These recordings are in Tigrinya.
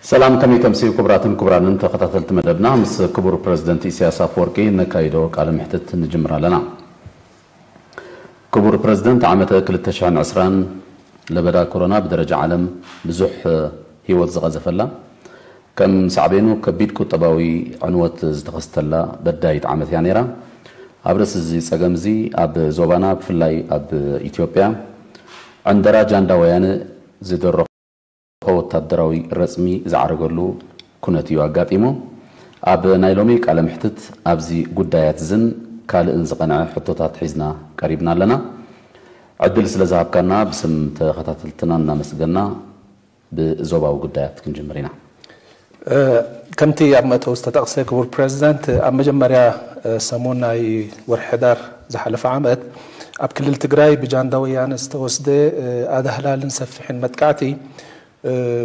ሰላም፣ ከመይ ተምስዩ ክቡራትን ክቡራንን ተኸታተልቲ መደብና? ምስ ክቡር ፕረዚደንት ኢሳያስ ኣፈወርቂ ነካይዶ ቃለ መሕትት ንጅምር ኣለና። ክቡር ፕረዚደንት፣ ዓመተ ክልተ ሽሕን ዕስራን ለበዳ ኮሮና ብደረጃ ዓለም ብዙሕ ህይወት ዝቐዘፈላ፣ ከም ሳዕቤኑ ከቢድ ቁጠባዊ ዕንወት ዝተኸስተላ በዳይት ዓመት እያ ነይራ። ኣብ ርእሲ እዚ ጸገም እዚ ኣብ ዞባና ብፍላይ ኣብ ኢትዮጵያ ዕንደራ ጃንዳ ወያነ ዝደረኾ ወታደራዊ ረጽሚ ዝዓረገሉ ኩነት እዩ ኣጋጢሙ። ኣብ ናይ ሎሚ ቃለ ምሕትት ኣብዚ ጉዳያት ዝን ካልእን ዝቐንዐ ሕቶታት ሒዝና ቀሪብና ኣለና። ዕድል ስለ ዝሃብካና ብስም ተኸታተልትና እናመስገና ብዞባዊ ጉዳያት ክንጅምር ኢና። ከምቲ ኣብ መእተዊ ዝተጠቕሰ ክቡር ፕረዚደንት፣ ኣብ መጀመርያ ሰሙን ናይ ወርሒ ሕዳር ዝሓለፈ ዓመት ኣብ ክልል ትግራይ ብጃንዳ ወያነ ዝተወስደ ኣዳህላልን ሰፊሕን መጥቃዕቲ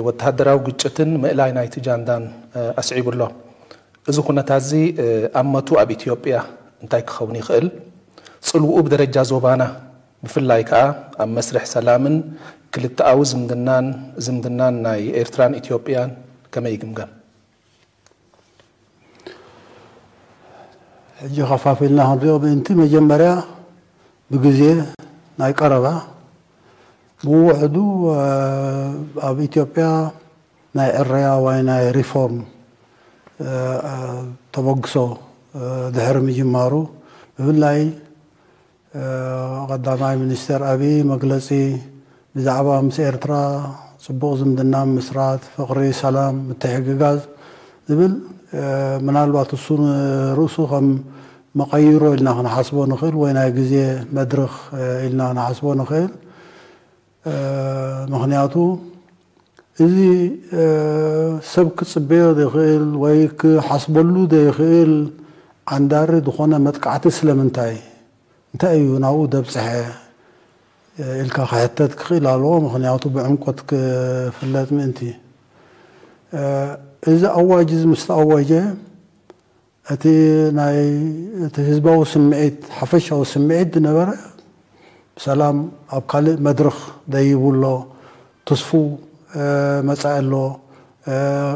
ወተሃደራዊ ግጭትን ምእላይ ናይቲ ጃንዳን ኣስዒቡ ኣሎ። እዚ ኩነታት እዚ ኣመቱ ኣብ ኢትዮጵያ እንታይ ክኸውን ይኽእል? ጽልውኡ ብደረጃ ዞባና ብፍላይ ከኣ ኣብ መስርሕ ሰላምን ክልተኣዊ ዝምድናን ዝምድናን ናይ ኤርትራን ኢትዮጵያን ከመይ ይግምገም? ሕጂ ከፋፊልና ክንሪኦ ምእንቲ መጀመርያ ብግዜ ናይ ቀረባ ብውሕዱ ኣብ ኢትዮጵያ ናይ ዕረያ ወይ ናይ ሪፎርም ተበግሶ ድሕሪ ምጅማሩ ብፍላይ ቀዳማይ ሚኒስተር ኣብይ መግለጺ ብዛዕባ ምስ ኤርትራ ጽቡቕ ዝምድና ምስራት፣ ፍቕሪ፣ ሰላም፣ ምትሕግጋዝ ዝብል ምናልባት እሱ ንርእሱ ከም መቐይሮ ኢልና ክንሓስቦ ንኽእል ወይ ናይ ግዜ መድርኽ ኢልና ክንሓስቦ ንኽእል። ምኽንያቱ እዚ ሰብ ክጽበዮ ዘይኽእል ወይ ክሓስበሉ ዘይኽእል ዓንዳሪ ዝኾነ መጥቃዕቲ ስለምንታይ እንታይ እዩ ናብኡ ደብጽሐ ኢልካ ክሕተት ክኽእል ኣለዎ። ምኽንያቱ ብዕምቆት ክፍለጥ ምእንቲ። እዚ ኣዋጅ እዚ ምስ ተኣወጀ እቲ ናይ እቲ ህዝባዊ ስምዒት ሓፈሻዊ ስምዒት ዝነበረ ሰላም ኣብ ካልእ መድረኽ ደይቡ ኣሎ፣ ትስፉ መጻኢ ኣሎ፣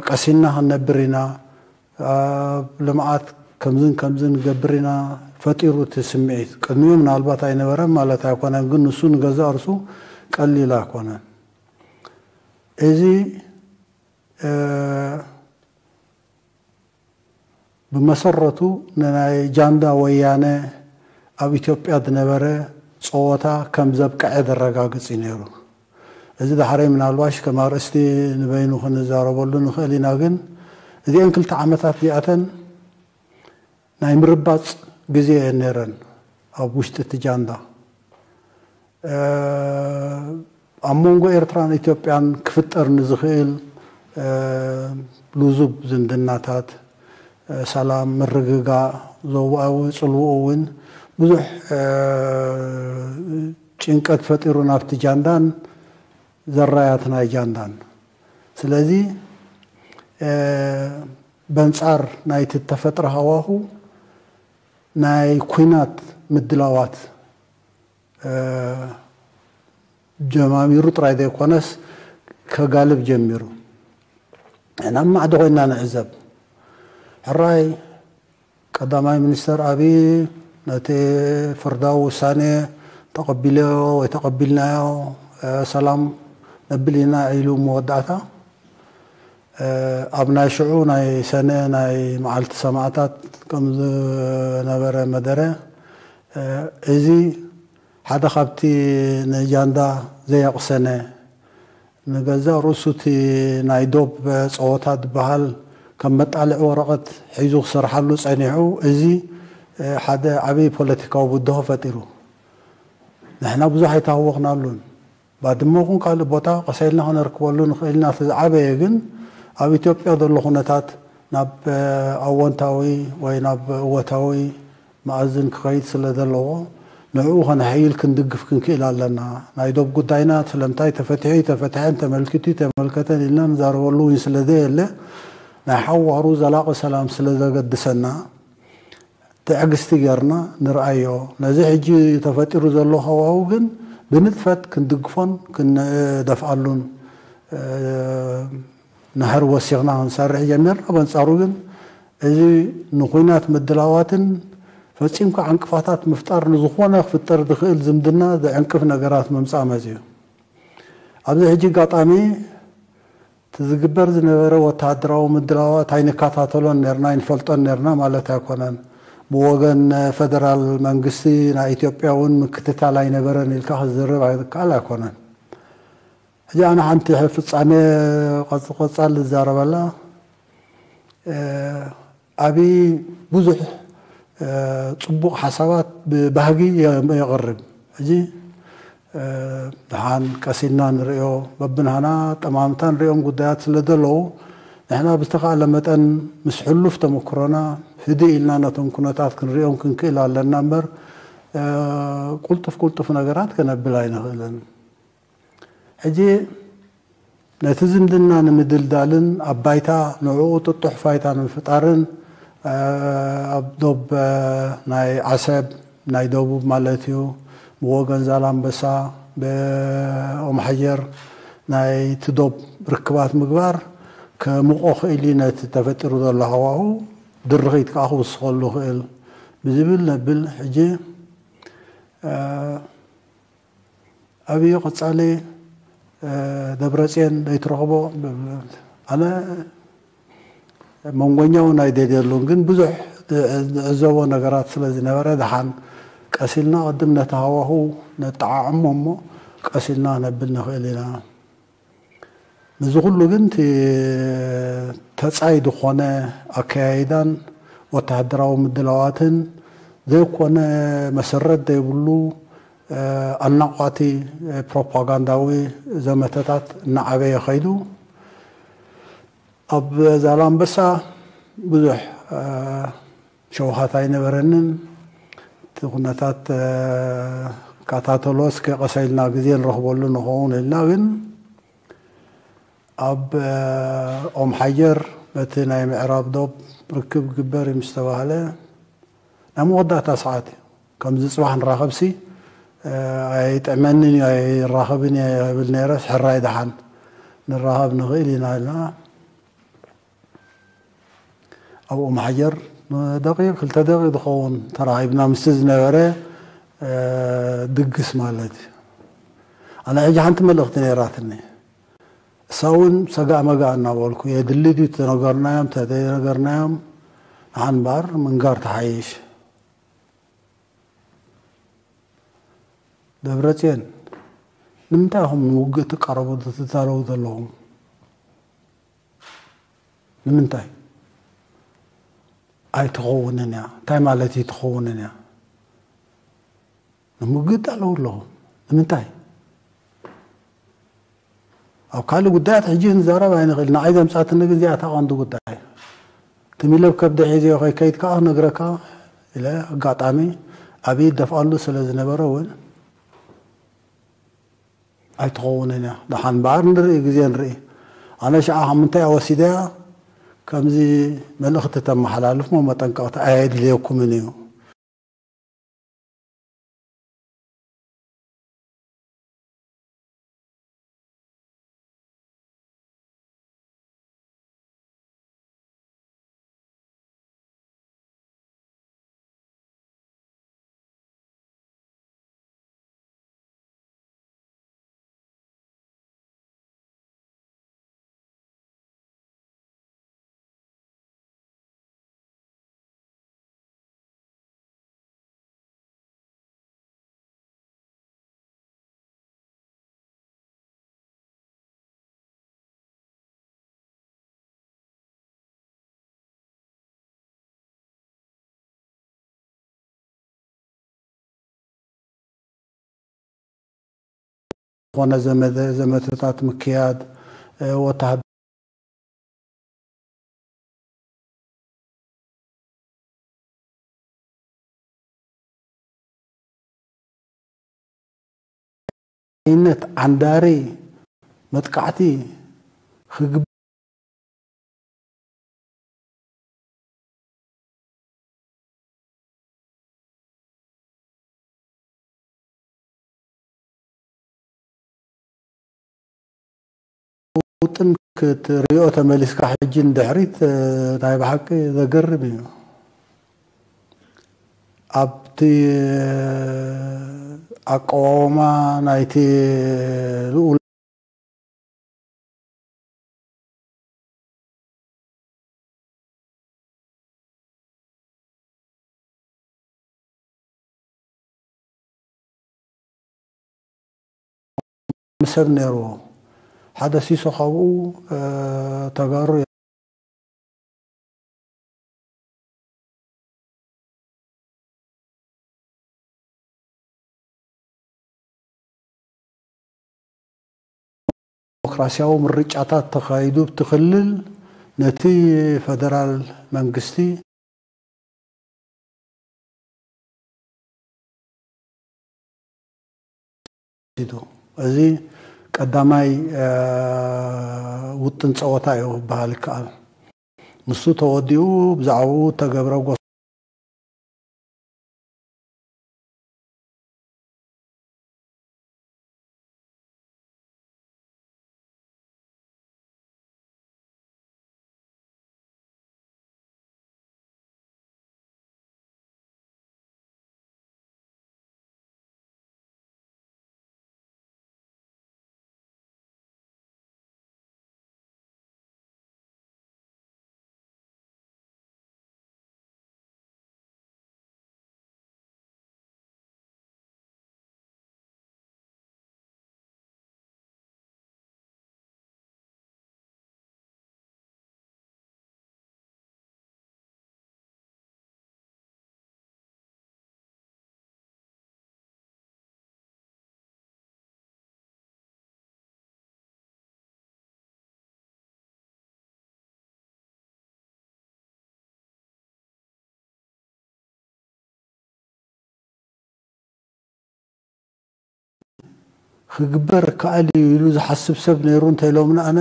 ቀሲንና ክንነብር ኢና፣ ኣብ ልምዓት ከምዝን ከምዝን ንገብር ኢና ፈጢሩ እቲ ስምዒት። ቅድሚኡ ምናልባት ኣይነበረን ማለት ኣይኮነን፣ ግን ንሱ ንገዛእ ርሱ ቀሊል ኣይኮነን። እዚ ብመሰረቱ ንናይ ጃንዳ ወያነ ኣብ ኢትዮጵያ ዝነበረ ጸወታ ከም ዘብቀዐ ዘረጋግጽ እዩ ነይሩ። እዚ ዳሕረይ ምናልባሽ ከም ኣርእስቲ ንበይኑ ክንዛረበሉ ንኽእል ኢና፣ ግን እዚአን ክልተ ዓመታት እዚኣተን ናይ ምርባጽ ግዜ እየን ነይረን ኣብ ውሽጢ እቲ ጃንዳ። ኣብ መንጎ ኤርትራን ኢትዮጵያን ክፍጠር ንዝኽእል ልዙብ ዝምድናታት፣ ሰላም፣ ምርግጋእ፣ ዞባዊ ጽልውኡ እውን ብዙሕ ጭንቀት ፈጢሩ ናብቲ ጃንዳን ዘራያት ናይ ጃንዳን። ስለዚ በንጻር ናይቲ እተፈጥረ ሃዋሁ ናይ ኲናት ምድላዋት ጀማሚሩ ጥራይ ዘይኮነስ ከጋልብ ጀሚሩ። ናብ ማዕዶ ኮይንና ንዕዘብ። ሕራይ ቀዳማይ ሚኒስተር ኣብይ ነቲ ፍርዳዊ ውሳኔ ተቐቢለዮ ወይ ተቐቢልናዮ ሰላም ነብል ኢና ኢሉ መወዳእታ ኣብ ናይ ሽዑ ናይ ሰነ ናይ መዓልቲ ሰማእታት ከም ዝነበረ መደረ እዚ ሓደ ካብቲ ንጃንዳ ዘየቕሰነ ንገዛእ ርእሱ እቲ ናይ ዶብ ጸወታ ዝበሃል ከም መጣልዒ ወረቐት ሒዙ ክሰርሓሉ ጸኒሑ፣ እዚ ሓደ ዓብዪ ፖለቲካዊ ብድሆ ፈጢሩ። ንሕና ብዙሕ ኣይተሃወኽናሉን። ባድመ ይኹን ካልእ ቦታ ቀስ ኢልና ከነርክበሉ ንኽእል ኢና። እቲ ዝዓበየ ግን ኣብ ኢትዮጵያ ዘሎ ኩነታት ናብ ኣወንታዊ ወይ ናብ እወታዊ መኣዝን ክኸይድ ስለ ዘለዎ ንዕኡ ከነሐይል ክንድግፍ ክንክእል ኣለና። ናይ ዶብ ጉዳይና ስለምንታይ ተፈቲሑ ኣይተፈትሐን ተመልኪቱ ኣይተመልከተን ኢልና ንዛረበሉ እውን ስለ ዘየለ ናይ ሓዋሩ ዘላቒ ሰላም ስለ ዘገድሰና ትዕግስቲ ጌርና ንርኣዮ። ነዚ ሕጂ ተፈጢሩ ዘሎ ሃዋሁ ግን ብንጥፈት ክንድግፎን ክንደፍኣሉን ንሕር ወሲኽና ክንሰርሕ ጀሚርና። በንጻሩ ግን እዚ ንኹናት ምድላዋትን ፈጺምካ ዕንቅፋታት ምፍጣር ንዝኾነ ክፍጠር ዝኽእል ዝምድና ዘዕንቅፍ ነገራት ምምጻእ መጺኡ። ኣብዚ ሕጂ ኣጋጣሚ እቲ ዝግበር ዝነበረ ወተሃደራዊ ምድላዋት ኣይንከታተሎን ነርና፣ ኣይንፈልጦን ነርና ማለት ኣይኮነን። ብወገን ፈደራል መንግስቲ ናይ ኢትዮጵያ እውን ምክትታል ኣይነበረን ኢልካ ክዝርብ ኣይከኣል ኣይኮነን። ሕጂ ኣነ ሓንቲ ፍጻሜ ቀጽ-፣ ቀጻል ዝዛረበላ፣ እ፣ ኣብይ ብዙሕ፣ እ፣ ጽቡቕ ሓሳባት ብባህጊ የ-፣ የቕርብ። ሕጂ፣ እ፣ ደሓን ቀስ ኢልና ንርእዮ፣ በብናህና ጠማምታ ንርእዮም ጉዳያት ስለ ዘለዉ፣ ንሕና ብዝተኻእለ መጠን ምስ ሕሉፍ ተመክሮና ህድእ ኢልና ነቶም ኩነታት ክንርእዮም ክንክእል ኣለና እምበር፣ እ፣ ቁልጡፍ ቁልጡፍ ነገራት ከነብል ኣይንኽእልን። ሕጂ ነቲ ዝምድና ንምድልዳልን ኣብ ባይታ ንዕኡ ጥጡሕ ፋይታ ንምፍጣርን፣ እ፣ ኣብ ዶብ፣ እ፣ ናይ ዓሰብ፣ ናይ ደቡብ ማለት እዩ፣ ብወገን ዛላምበሳ፣ ብኦም ሓጀር ናይቲ ዶብ ርክባት ምግባር ከምቆ ክእል እዩ ነቲ ተፈጢሩ ዘሎ ሃዋሁ ድርኺት ከኣ ክውስኸሉ ክእል ብዝብል ነብል። ሕጂ፣ እ፣ ኣብዩ ቀጻሊ፣ እ፣ ደብረጽዮን ዘይትረኽቦ፣ ኣነ መንጎኛ እውን ኣይደልየሉን፣ ግን ብዙሕ ዝዕዘቦ ነገራት ስለ ዝነበረ፣ ደሓን ቀስ ኢልና ቅድም ነቲ ሃዋሁ ነጠዓዕሞ እሞ፣ ቀስ ኢልና ነብል ንኽእል ኢና። ነዚ ኩሉ ግን እቲ ተጻይ ዝኾነ ኣከያይዳን ወተሃደራዊ ምድላዋትን ዘይኮነ መሰረት ዘይብሉ፣ እ፣ ኣናቋቲ ፕሮፓጋንዳዊ ዘመተታት እናዓበየ ኸይዱ፣ ኣብ ዛላምበሳ ብዙሕ፣ እ፣ ሸውሃት ኣይነበረንን። እቲ ኩነታት፣ እ፣ ከታተሎ እስከ ቀሰ ኢልና ግዜ ንረኽበሉ ንኸውን ኢልና፣ ግን ኣብ፣ እ፣ ኦም ሓጀር በቲ ናይ ምዕራብ ዶብ ርክብ ግበር እዩ ምስ ተባህለ፣ ናይ መወዳእታ ሰዓት እዩ። ከምዚ ጽባሕ ንራኸብሲ፣ እ፣ ኣይጥዕመንን እዩ፣ ኣይራኸብን እየ እብል ነይረስ፣ ሕራይ ደሓን ንራኸብ ንኽእል ኢና ኢልና። ኣብኡ ማሕጀር ደቂቕ፣ ክልተ ደቂቕ ዝኸውን ተራኺብና ምስቲ ዝነበረ፣ እ፣ ድግስ ማለት እዩ። ኣነ ሕጂ ሓንቲ መልእኽቲ ነይራትኒ። እሳ እውን ሰጋእ መጋእ እናበልኩ፣ የድሊ ድዩ ተነገርናዮም፣ ተዘይነገርናዮም፣ ንሓን እምበኣር ምንጋር ተሓይሽ። ደብረጽዮን፣ ንምንታይ ኢኹም ንውግእ ትቃረቡ ትዛረቡ ዘለኹም? ንምንታይ? ኣይትኸውንን እያ። እንታይ ማለት እዩ ትኸውንን እያ? ንምውግእ ትዳለዉ ኣለኹም። ንምንታይ? ኣብ ካልእ ጉዳያት ሕጂ ክንዛረብ ኣይንኽእል። ንዓይ ዘምጻትኒ ግን እዚኣ እታ ቀንዲ ጉዳይ። ትም ኢለ ብከብዲ ሒዘዮ ከይከይድ ከኣ ክነግረካ ኢለ ኣጋጣሚ ኣብይ ይደፍኣሉ ስለ ዝነበረ እውን ኣይትኸውንን እያ። ደሓን እምበኣር ንርኢ፣ ግዜ ንርኢ። ኣነ ሽዓ ካብ ምንታይ እያ ወሲደያ ከምዚ መልእኽቲ ተመሓላልፍ እሞ መጠንቀቕታ ኣየድልየኩምን እዩ። ዝኾነ ዘመተ-፣ ዘመተታት ምክያድ፣ እ፣ ወተሃደ-፣ ዓይነት ዓንዳሪ መጥቃዕቲ ክግብ-፣ ውጥን ክትሪኦ ተመሊስካ ሕጂ ንድሕሪት፣ እ፣ ናይ ብሓቂ ዘገርም እዩ። ኣብቲ፣ እ፣ ኣቀዋውማ ናይቲ ልኡል ሰብ ነይርዎ። ሓደ ሲሶ ካብኡ፣ እ፣ ተጋሩ ዲሞክራሲያዊ ምርጫታት ተኻይዱ፣ እቲ ክልል ነቲ ፈደራል መንግስቲ ወሲዱ። እዚ ቀዳማይ፣ እ፣ ውጥን ጸወታ እዩ ክበሃል ይከኣል። ንሱ ተወዲኡ ብዛዕባኡ እተገብረ ጎስ ክግበር ይከኣል እዩ ኢሉ ዝሓስብ ሰብ ነይሩ እንተኢሎምና፣ ኣነ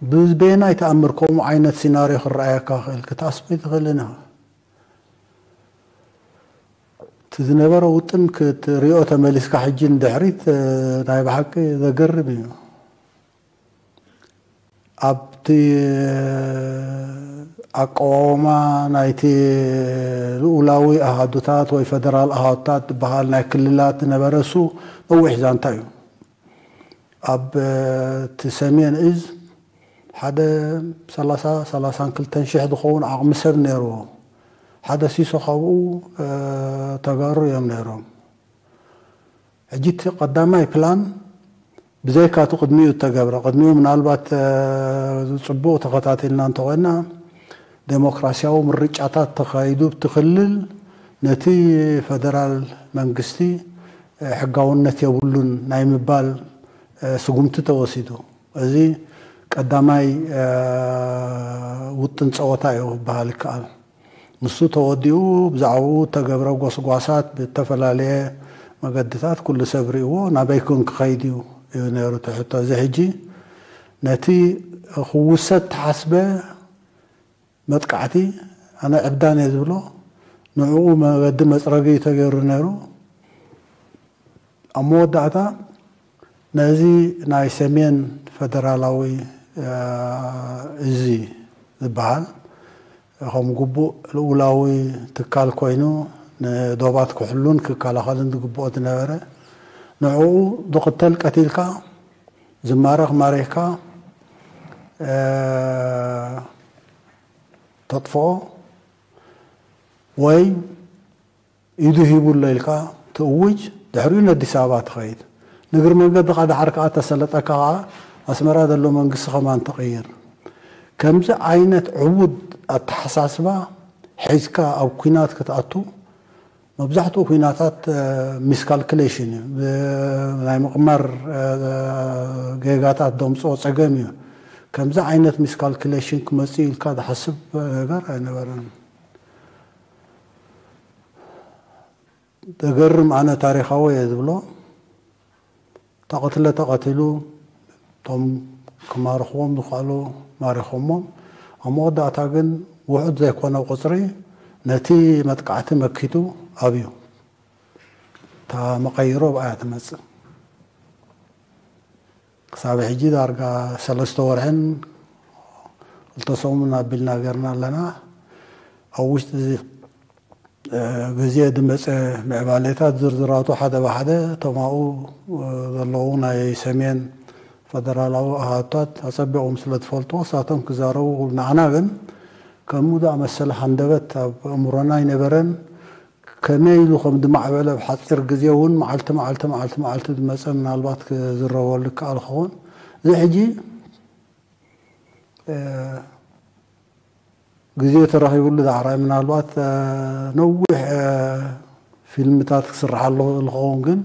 ብበየናይ ተኣምር ከምኡ ዓይነት ሲናርዮ ክረኣየካ ክእል? ክትኣስብ ኣይትኽእልን ኢኻ። እቲ ዝነበረ ውጥን ክትሪኦ ተመሊስካ ሕጂ ንድሕሪት፣ እ፣ ናይ ብሓቂ ዘገርም እዩ። ኣብቲ ኣቀዋውማ ናይቲ ልኡላዊ ኣሃዱታት ወይ ፈደራል ኣሃዱታት ዝበሃል ናይ ክልላት ዝነበረ እሱ ነዊሕ ዛንታ እዩ። ኣብ፣ እ፣ እቲ ሰሜን እዝ ሓደ ሰላሳ፣ ሰላሳን ክልተን ሽሕ ዝኸውን ዓቕሚ ሰብ ነይርዎ። ሓደ ሲሶ ካብኡ፣ እ፣ ተጋሩ እዮም ነይሮም። ሕጂ እቲ ቀዳማይ ፕላን ብዘይካ እቲ ቅድሚኡ እተገብረ፣ ቅድሚኡ ምናልባት፣ እ፣ ጽቡቕ ተኸታቲልና እንተኾይና፣ ዴሞክራሲያዊ ምርጫታት ተኻይዱ፣ እቲ ክልል ነቲ ፈደራል መንግስቲ፣ እ፣ ሕጋውነት የብሉን ናይ ምባል፣ እ፣ ስጉምቲ ተወሲዱ። እዚ ቀዳማይ፣ እ፣ ውጥን ጸወታ እዩ ክበሃል ይከኣል። ንሱ ተወዲኡ ብዛዕባኡ እተገብረ ጎስጓሳት ብእተፈላለየ መገድታት ኩሉ ሰብ ርእይዎ፣ ናበይ ኮን ክኸይድ እዩ እዩ ነይሩ እቲ ሕቶ። እዚ ሕጂ ነቲ ክውሰድ ተሓስበ መጥቃዕቲ ኣነ ዕብዳን እየ ዝብሎ፣ ንዕኡ መገዲ መጽረጊ እዩ ተገይሩ ነይሩ። ኣብ መወዳእታ ነዚ ናይ ሰሜን ፈደራላዊ፣ እ፣ እዚ ዝበሃል ከም ግቡእ ልኡላዊ ትካል ኮይኑ ንዶባት ክሕሉን ክከላኸልን ዝግብኦ ዝነበረ፣ ንዕኡ ዝቕተል ቀቲልካ፣ ዝማረኽ ማሪኽካ፣ እ፣ ተጥፍኦ ወይ ኢዱ ሂቡ ኣሎ ኢልካ ትእውጅ፣ ድሕሪኡ ነዲስ ኣበባ ትኸይድ። ንእግሪ መንገድኻ ደሓር ከኣ ተሰለጠካ ከኣ ኣስመራ ዘሎ መንግስቲ ከማን ትቕይር። ከምዚ ዓይነት ዕቡድ ኣተሓሳስባ ሒዝካ ኣብ ኲናት ክትኣቱ፣ መብዛሕትኡ ኲናታት፣ እ፣ ሚስካልኩሌሽን እዩ። ብ-፣ ናይ ምቕማር፣ እ፣ ጌጋታት ዘምጽኦ ጸገም እዩ። ከምዚ ዓይነት ሚስካልኩሌሽን ክመጽእ ኢልካ ዝሓስብ ነገር ኣይነበረን። ዘገርም፣ ኣነ ታሪኻዊ እየ ዝብሎ፣ ተቐትለ ተቐቲሉ፣ እቶም ክማርኽዎም ዝኸኣሉ ማሪኾሞም። ኣብ መወዳእታ ግን ውሑድ ዘይኮነ ቁጽሪ ነቲ መጥቃዕቲ መኪቱ ኣብዩ። እታ መቐይሮ ብኣያ ትመጽእ። ክሳብ ሕጂ ዳርጋ ሰለስተ ወርሕን ክልተ ሰሙን ኣቢልና ገርና ኣለና። ኣብ ውሽጢ እዚ ግዜ ዝመፀ ምዕባሌታት ዝርዝራቱ ሓደ ብሓደ እቶም ኣብኡ ዘለዉ ናይ ሰሜን ፈደራላዊ ኣሃዱታት ኣፀቢቖም ስለ ዝፈልጥዎ እሳቶም ክዛረቡ። ንዓና ግን ከምኡ ዝኣመሰለ ሃንደበት ኣብ ኣእምሮና ኣይነበረን። ከመይ ኢሉ ከም ዝማዕበለ ኣብ ሓፂር ግዜ እውን መዓልቲ መዓልቲ መዓልቲ መዓልቲ ዝመፀ ምናልባት ክዝረበሉ ይከኣል ክኸውን። እዚ ሕጂ ግዜ ተረኺብሉ ዳዕራይ ምናልባት ነዊሕ ፊልምታት ክስርሓሉ ዝኸውን ግን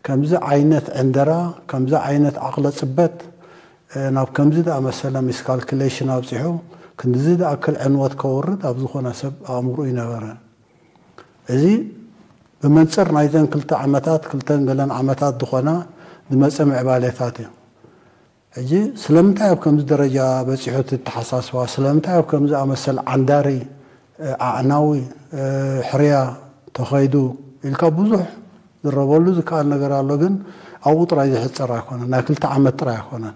ከምዚ ዓይነት ዕንደራ ከምዚ ዓይነት ዓቕለ ፅበት ናብ ከምዚ ዝኣመሰለ ሚስካልኩሌሽን ኣብፂሑ ክንድዚ ዝኣክል ዕንወት ከውርድ ኣብ ዝኾነ ሰብ ኣእምሮ ይነበረ። እዚ ብመንፅር ናይዘን ክልተ ዓመታት ክልተን ገለን ዓመታት ዝኾና ዝመፀ ምዕባሌታት እዩ። ሕጂ ስለምንታይ ኣብ ከምዚ ደረጃ በፂሑ እቲ ተሓሳስባ ስለምንታይ ኣብ ከምዚ ኣመሰል ዓንዳሪ ኣዕናዊ ሕርያ ተኸይዱ ኢልካ ብዙሕ ዝረበሉ ዝከኣል ነገር ኣሎ። ግን ኣብኡ ጥራይ ዝሕፀር ኣይኮነን። ናይ ክልተ ዓመት ጥራይ ኣይኮነን።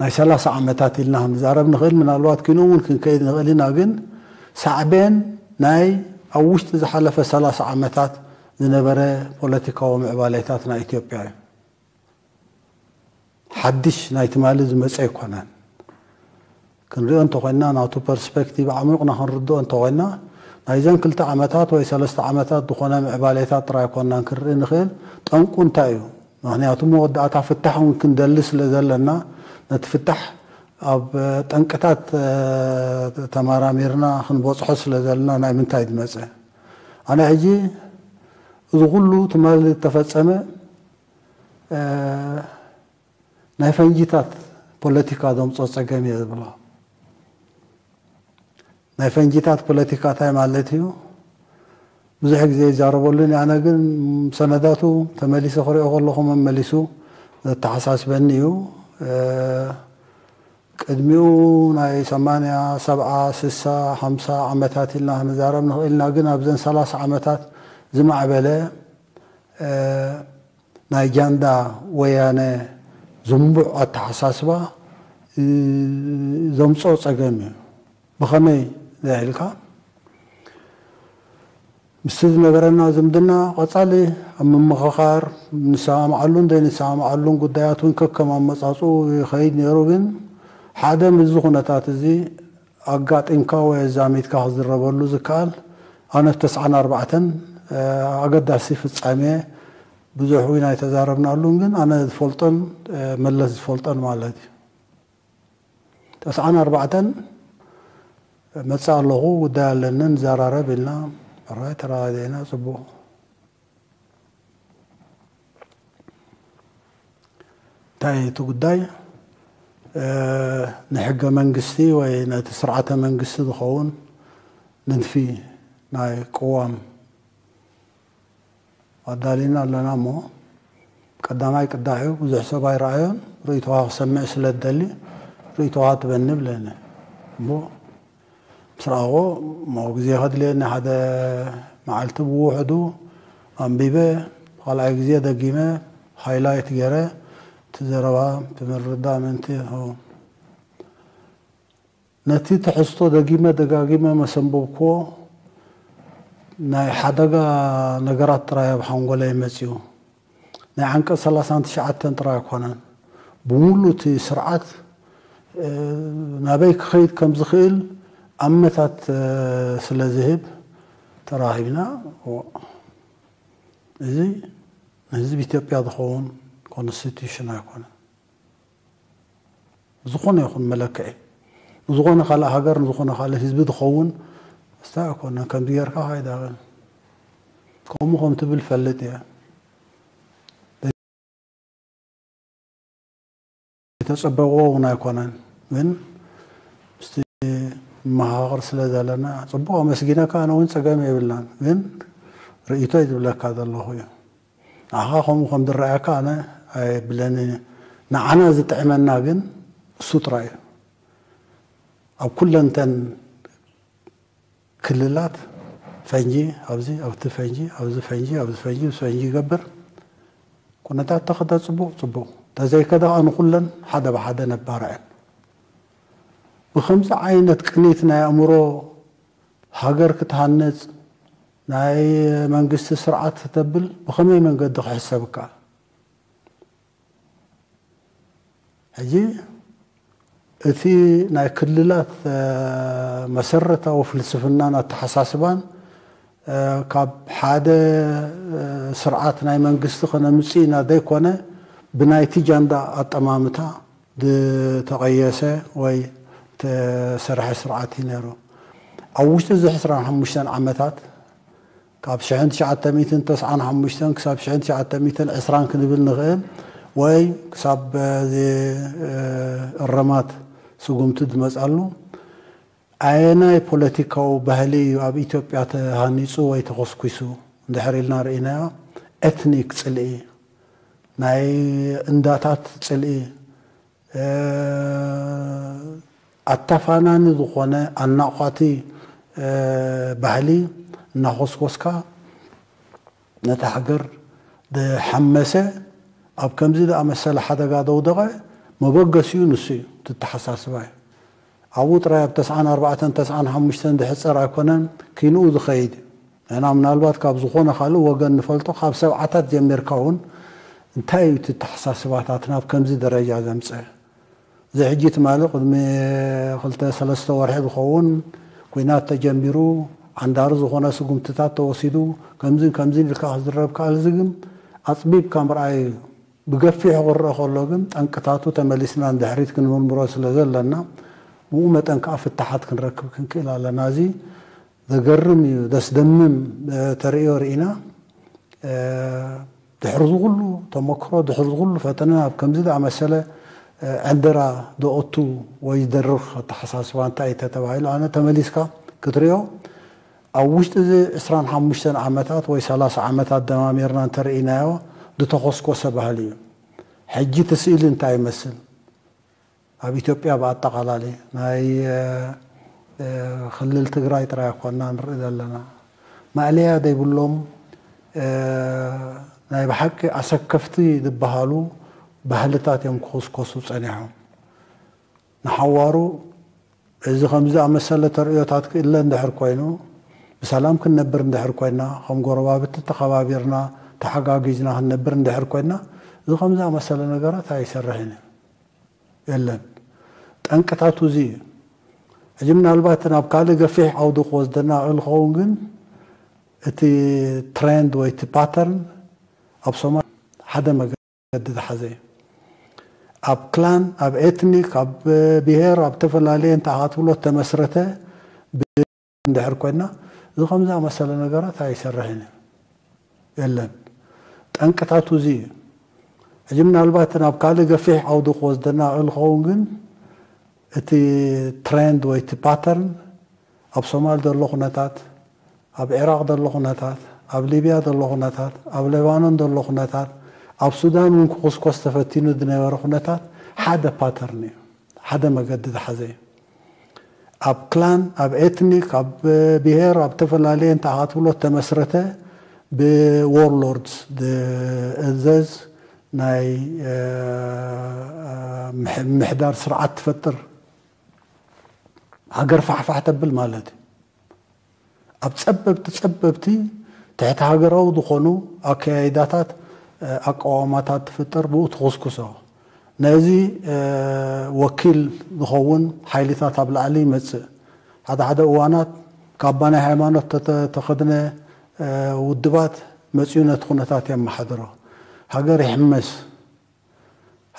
ናይ ሰላሳ ዓመታት ኢልና ክንዛረብ ንኽእል። ምናልባት ኪኖ እውን ክንከይድ ንኽእል ኢና። ግን ሳዕቤን ናይ ኣብ ውሽጢ ዝሓለፈ ሰላሳ ዓመታት ዝነበረ ፖለቲካዊ ምዕባሌታት ናይ ኢትዮጵያ እዩ። ሓድሽ ናይ ትማሊ ዝመፀ ኣይኮነን። ክንሪኦ እንተኾይና ናቱ ፐርስፔክቲቭ ዓሚቕና ክንርድኦ እንተኾይና ናይዘን ክልተ ዓመታት ወይ ሰለስተ ዓመታት ዝኾነ ምዕባሌታት ጥራይ ኣይኮናን ክንርኢ ንኽእል። ጠንቁ እንታይ እዩ? ምኽንያቱ መወዳእታ ፍታሕ እውን ክንደሊ ስለ ዘለና ነቲ ፍታሕ ኣብ ጠንቅታት ተመራሚርና ክንበፅሖ ስለ ዘለና ናይ ምንታይ ዝመፀ ኣነ ሕጂ እዚ ኩሉ ትማሊ ዝተፈፀመ ናይ ፈንጂታት ፖለቲካ ዘምፅኦ ፀገም እየ ዝብሎ። ናይ ፈንጂታት ፖለቲካ እንታይ ማለት እዩ? ብዙሕ ግዜ ይዛረበሉን ኣነ ግን ሰነዳቱ ተመሊሰ ክሪኦ ከለኹ መመሊሱ ዘተሓሳስበኒ እዩ። ቅድሚኡ ናይ ሰማንያ፣ ሰብዓ፣ ስሳ፣ ሓምሳ ዓመታት ኢልና ክንዛረብ ንኽእል ኢና። ግን ኣብዘን ሰላሳ ዓመታት ዝማዕበለ ናይ ጃንዳ ወያነ ዝንቡዕ ኣተሓሳስባ ዘምፅኦ ፀገም እዩ። ብኸመይ ኢልካ ምስቲ ዝነበረና ዝምድና ቀፃሊ ኣብ ምምኽኻር ንሰማምዓሉን ዘይንሰማምዓሉን ጉዳያት እውን ከከም ኣመፃፅኡ ይኸይድ ነይሩ። ግን ሓደ ምስዚ ኩነታት እዚ ኣጋጢምካ ወይ ኣዛሚድካ ክዝረበሉ ዝከኣል ኣነ ተስዓን ኣርባዕተን ኣገዳሲ ፍፃሜ ብዙሕ እውን ኣይተዛረብናሉን ግን ኣነ ዝፈልጦን መለስ ዝፈልጦን ማለት እዩ። ተስዓን ኣርባዕተን መፅእ ኣለኹ ጉዳይ ኣለኒ ንዘራረብ ኢልና ሕራይ ተረዳዲእና ፅቡቕ እንታይ እቲ ጉዳይ ንሕገ መንግስቲ ወይ ነቲ ስርዓተ መንግስቲ ዝኸውን ንድፊ ናይ ቅዋም ኣዳሊና ኣለና እሞ ቀዳማይ ቅዳሕ እዩ ብዙሕ ሰብ ኣይረኣዮን ርእይቶኻ ክሰምዕ ስለ ዝደሊ ርእይቶኻ ትበኒ ብለኒ እሞ ምስ ረኣዎ እሞ ግዜ ከድልየኒ ሓደ መዓልቲ ብውሕዱ ኣንቢበ ካልኣይ ግዜ ደጊመ ሃይላይት ገይረ እቲ ዘረባ እቲ ምርዳእ ምእንቲ ነቲ ትሕዝቶ ደጊመ ደጋጊመ መሰንበብክዎ ናይ ሓደጋ ነገራት ጥራይ ኣብ ሓንጎለይ መጺኡ ናይ ዓንቀጽ ሰላሳን ትሽዓተን ጥራይ ኣይኮነን ብምሉእ እቲ ስርዓት ናበይ ክኸይድ ከም ዝኽእል ኣመታት ስለ ዝህብ ተራኺብና እዚ ንህዝቢ ኢትዮጵያ ዝኸውን ኮንስቲቱሽን ኣይኮነን። ብዝኾነ ይኹን መለክዒ ንዝኾነ ካልእ ሃገር ንዝኾነ ካልእ ህዝቢ ዝኸውን ስታ ኣይኮነን። ከምዚ ጌርካ ካይዳበል ከምኡ ከም ትብል ፈልጥ እየ። የተጸበቕዎ እውን ኣይኮነን ግን ምስቲ መሃቕር ስለ ዘለና ጽቡቕ ኣመስጊነካ ኣነ እውን ጸገም የብልናን ግን ርእይቶ ዝብለካ ዘለኹ እዩ። ንዓኻ ከምኡ ከም ዝረኣየካ ኣነ ኣይብለንን እዩ። ንዓና ዝጥዕመና ግን እሱ ጥራይ እዩ። ኣብ ኩለንተን ክልላት ፈንጂ ኣብዚ ኣብቲ ፈንጂ ኣብዚ ፈንጂ ኣብዚ ፈንጂ ምስ ፈንጂ ይገብር ኩነታት ተኸደ ጽቡቕ ጽቡቕ፣ ተዘይከደ ከኣ ንኹለን ሓደ ብሓደ ነባርዐን። ብኸምዚ ዓይነት ቅኒት ናይ ኣእምሮ ሃገር ክትሃንጽ፣ ናይ መንግስቲ ስርዓት ክተብል ብኸመይ መንገዲ ክሕሰብ ይከኣል? ሕጂ እቲ ናይ ክልላት መሰረታዊ ፍልስፍናን ኣተሓሳስባን ካብ ሓደ ስርዓት ናይ መንግስቲ ከነምፅእ ኢና ዘይኮነ፣ ብናይቲ ጃንዳ ኣጠማምታ ዝተቐየሰ ወይ ተሰርሐ ስርዓት እዩ ነይሩ። ኣብ ውሽጢ እዚ ዕስራን ሓሙሽተን ዓመታት ካብ ሽሕን ትሽዓተ ሚእትን ተስዓን ሓሙሽተን ክሳብ ሽሕን ትሽዓተ ሚእትን ዕስራን ክንብል ንኽእል፣ ወይ ክሳብ እዚ እረማት ስጉምቲ ዝመጻሉ፣ ኣየናይ ፖለቲካዊ ባህሊ እዩ ኣብ ኢትዮጵያ ተሃኒጹ ወይ ተኾስኲሱ እንድሕር ኢልና ርኢናዮ፣ ኤትኒክ ጽልኢ፣ ናይ እንዳታት ጽልኢ፣ ኣተፋናኒ ዝኾነ ኣናቋቲ ባህሊ እናኾስኮስካ ነታ ሃገር ዝሓመሰ፣ ኣብ ከምዚ ዝኣመሰለ ሓደጋ ዘውደቐ መበገሲኡ ንሱ እዩ፣ ትተሓሳስባ እዩ። ኣብኡ ጥራይ ኣብ ተስዓን ኣርባዕተን ተስዓን ሓሙሽተን ዝሕጸር ኣይኮነን፣ ኪንኡ ዝኸይድ እዩ። ንሕና ምናልባት ካብ ዝኾነ ካልእ ወገን ንፈልጦ፣ ካብ ሰብዓታት ጀሚርካ እውን እንታይ እዩ እቲ ኣተሓሳስባታትና ኣብ ከምዚ ደረጃ ዘምጸ? እዚ ሕጂ ትማሊ ቅድሚ ክልተ ሰለስተ ወርሒ ዝኸውን ኲናት ተጀሚሩ፣ ዓንዳሪ ዝኾነ ስጉምትታት ተወሲዱ፣ ከምዚን ከምዚን ኢልካ ክዝረብ ከኣል፣ እዚ ግን ኣጽቢብካ ምርኣይ እዩ። ብገፊሑ ክረአ ከሎ ግን ጠንቅታቱ ተመሊስና ንድሕሪት ክንምርምሮ ስለ ዘለና፣ ብኡ መጠን ከኣ ፍታሓት ክንረክብ ክንክእል ኣለና። እዚ ዘገርም እዩ፣ ዘስደምም ተርእዮ ርኢና። ድሕሪ እዚ ኩሉ ተመክሮ፣ ድሕሪ እዚ ኩሉ ፈተነ ኣብ ከምዚ ዝኣመሰለ ዕንደራ ዘእቱ ወይ ዝደርኽ ኣተሓሳስባ እንታይ እዩ ተተባሂሉ፣ ኣነ ተመሊስካ ክትሪኦ፣ ኣብ ውሽጢ እዚ ዕስራን ሓሙሽተን ዓመታት ወይ ሰላሳ ዓመታት ደማሚርና እንተርኢናዮ፣ ዝተኾስኮሰ ባህሊ እዩ። ሕጂ እቲ ስእሊ እንታይ ይመስል? ኣብ ኢትዮጵያ ብኣጠቓላሊ ናይ ክልል ትግራይ ጥራይ ኣይኮና ንርኢ ዘለና። ማእለያ ዘይብሎም ናይ ብሓቂ ኣሰከፍቲ ዝበሃሉ ባህልታት እዮም ክኹስኮሱ ጸኒሖም። ንሓዋሩ እዚ ከምዚ ዝኣመሰለ ተርእዮታት ክእለ እንድሕር ኮይኑ፣ ብሰላም ክንነብር እንድሕር ኮይና፣ ከም ጎረባብቲ ተኸባቢርና ተሓጋጊዝና ክንነብር እንድሕር ኮይና፣ እዚ ከምዚ ዝኣመሰለ ነገራት ኣይሰርሕን እዩ። የለን። ጠንቅታቱ እዚ እዩ። ሕጂ ምናልባት ናብ ካልእ ገፊሕ ዓውዲ ክወስደና ይኽእል ክኸውን፣ ግን እቲ ትሬንድ ወይ እቲ ፓተርን ኣብ ሶማል ሓደ መገዲ ዝሓዘ እዩ። ኣብ ክላን፣ ኣብ ኤትኒክ፣ ኣብ ብሄር፣ ኣብ ተፈላለየ እንተ ክትብሎ ተመስረተ እንድሕር ኮይና፣ እዚ ከምዚ ዝኣመሰለ ነገራት ኣይሰርሕን እዩ። የለን። ጠንቅታቱ እዚ እዩ። ሕጂ ምናልባት ናብ ካልእ ገፊሕ ዓውዲ ክወስደና ይኽእል ክኸውን፣ ግን እቲ ትሬንድ ወይ እቲ ፓተርን ኣብ ሶማል ዘሎ ኩነታት፣ ኣብ ዒራቕ ዘሎ ኩነታት፣ ኣብ ሊብያ ዘሎ ኩነታት፣ ኣብ ሌባኖን ዘሎ ኩነታት፣ ኣብ ሱዳን እውን ክኹስኮስ ተፈቲኑ ዝነበረ ኩነታት ሓደ ፓተርን እዩ፣ ሓደ መገዲ ዝሓዘ እዩ። ኣብ ክላን፣ ኣብ ኤትኒክ፣ ኣብ ብሄር፣ ኣብ ተፈላለየ እንተ ክትብሎ ተመስረተ ብዎርሎርድስ ዝእዘዝ ናይ ምሕ- ምሕዳር ስርዓት ትፈጥር፣ ሃገር ፋሕፋሕ ተብል ማለት እዩ። ኣብ ጸበብቲ ጸበብቲ ትሕቲ ሃገራዊ ዝኾኑ ኣከያይዳታት፣ ኣቃዋማታት ትፍጠር፣ ብኡ ትኹስኩሶ። ነዚ ወኪል ዝኸውን ሓይልታት ኣብ ላዕሊ ይመጽእ። ሓደ ሓደ እዋናት ካባ ናይ ሃይማኖት ተተ- ተኸድነ ውድባት መጽኡ ነቲ ኩነታት የመሓድሮ። ሃገር ይሕመስ።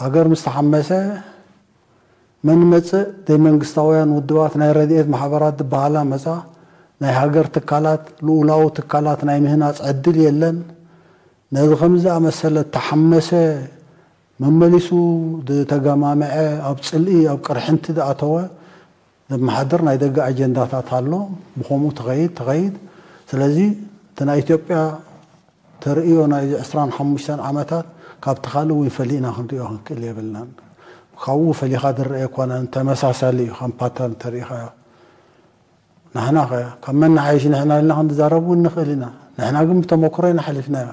ሃገር ምስ ተሓመሰ መን መጽእ? ዘይመንግስታውያን ውድባት፣ ናይ ረድኤት ማሕበራት ዝበሃላ መጻ። ናይ ሃገር ትካላት፣ ልኡላዊ ትካላት ናይ ምህናጽ ዕድል የለን። ነዚ ከምዚ ዝኣመሰለ ተሓመሰ፣ መመሊሱ ዝተገማምዐ፣ ኣብ ጽልኢ፣ ኣብ ቅርሕንቲ ዝኣተወ ዘመሓድር ናይ ደገ ኣጀንዳታት ኣሎ። ብኸምኡ ትኸይድ ትኸይድ። ስለዚ እቲ ናይ ኢትዮጵያ ተርእዮ ናይዚ ዕስራን ሓሙሽተን ዓመታት ካብቲ ካልእ እውን ፈሊእና ክንሪኦ ክንክእል የብልናን። ካብኡ ፈሊኻ ዝረአ ኣይኮነን፣ ተመሳሳሊ እዩ። ከም ፓተርን ተሪኢኻዮ፣ ንሕና ኸ ካብ መን ንሓይሽ ንሕና ኢልና ክንዛረብ እውን ንኽእል ኢና። ንሕና ግን ብተመክሮ ኢና ሓሊፍናዮ።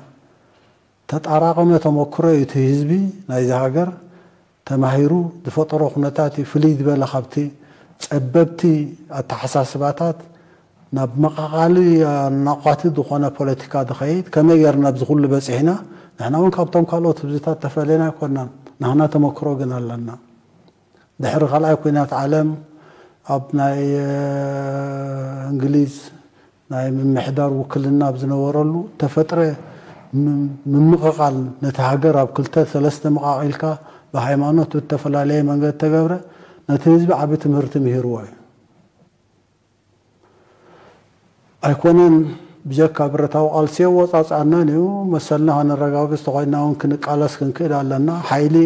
ተጣራቐመ ተመክሮ እዩ። እቲ ህዝቢ ናይዚ ሃገር ተማሂሩ ዝፈጠሮ ኩነታት እዩ። ፍልይ ዝበለ ካብቲ ጸበብቲ ኣተሓሳስባታት ናብ መቓቓሊ ኣናቋቲ ዝኾነ ፖለቲካ ዝኸይድ፣ ከመይ ጌርና ኣብዚ ኩሉ በጺሕና? ንሕና እውን ካብቶም ካልኦት ህዝብታት ተፈለና ኣይኮናን። ናህና ተመክሮ ግን ኣለና። ድሕሪ ካልኣይ ኩናት ዓለም ኣብ ናይ እንግሊዝ ናይ ምምሕዳር ውክልና ኣብ ዝነበረሉ ተፈጥረ ምምቕቓል፣ ነቲ ሃገር ኣብ ክልተ ሰለስተ መቓቒልካ፣ ብሃይማኖት ብተፈላለየ መንገዲ ተገብረ፣ ነቲ ህዝቢ ዓቢ ትምህርቲ ምሂርዎ እዩ። ኣይኮነን ብጀካ ብረታዊ ቃልሲ የወፃፅኣናን እዩ። መሰልና ከነረጋግፅ ተኮይና እውን ክንቃለስ ክንክእል ኣለና። ሓይሊ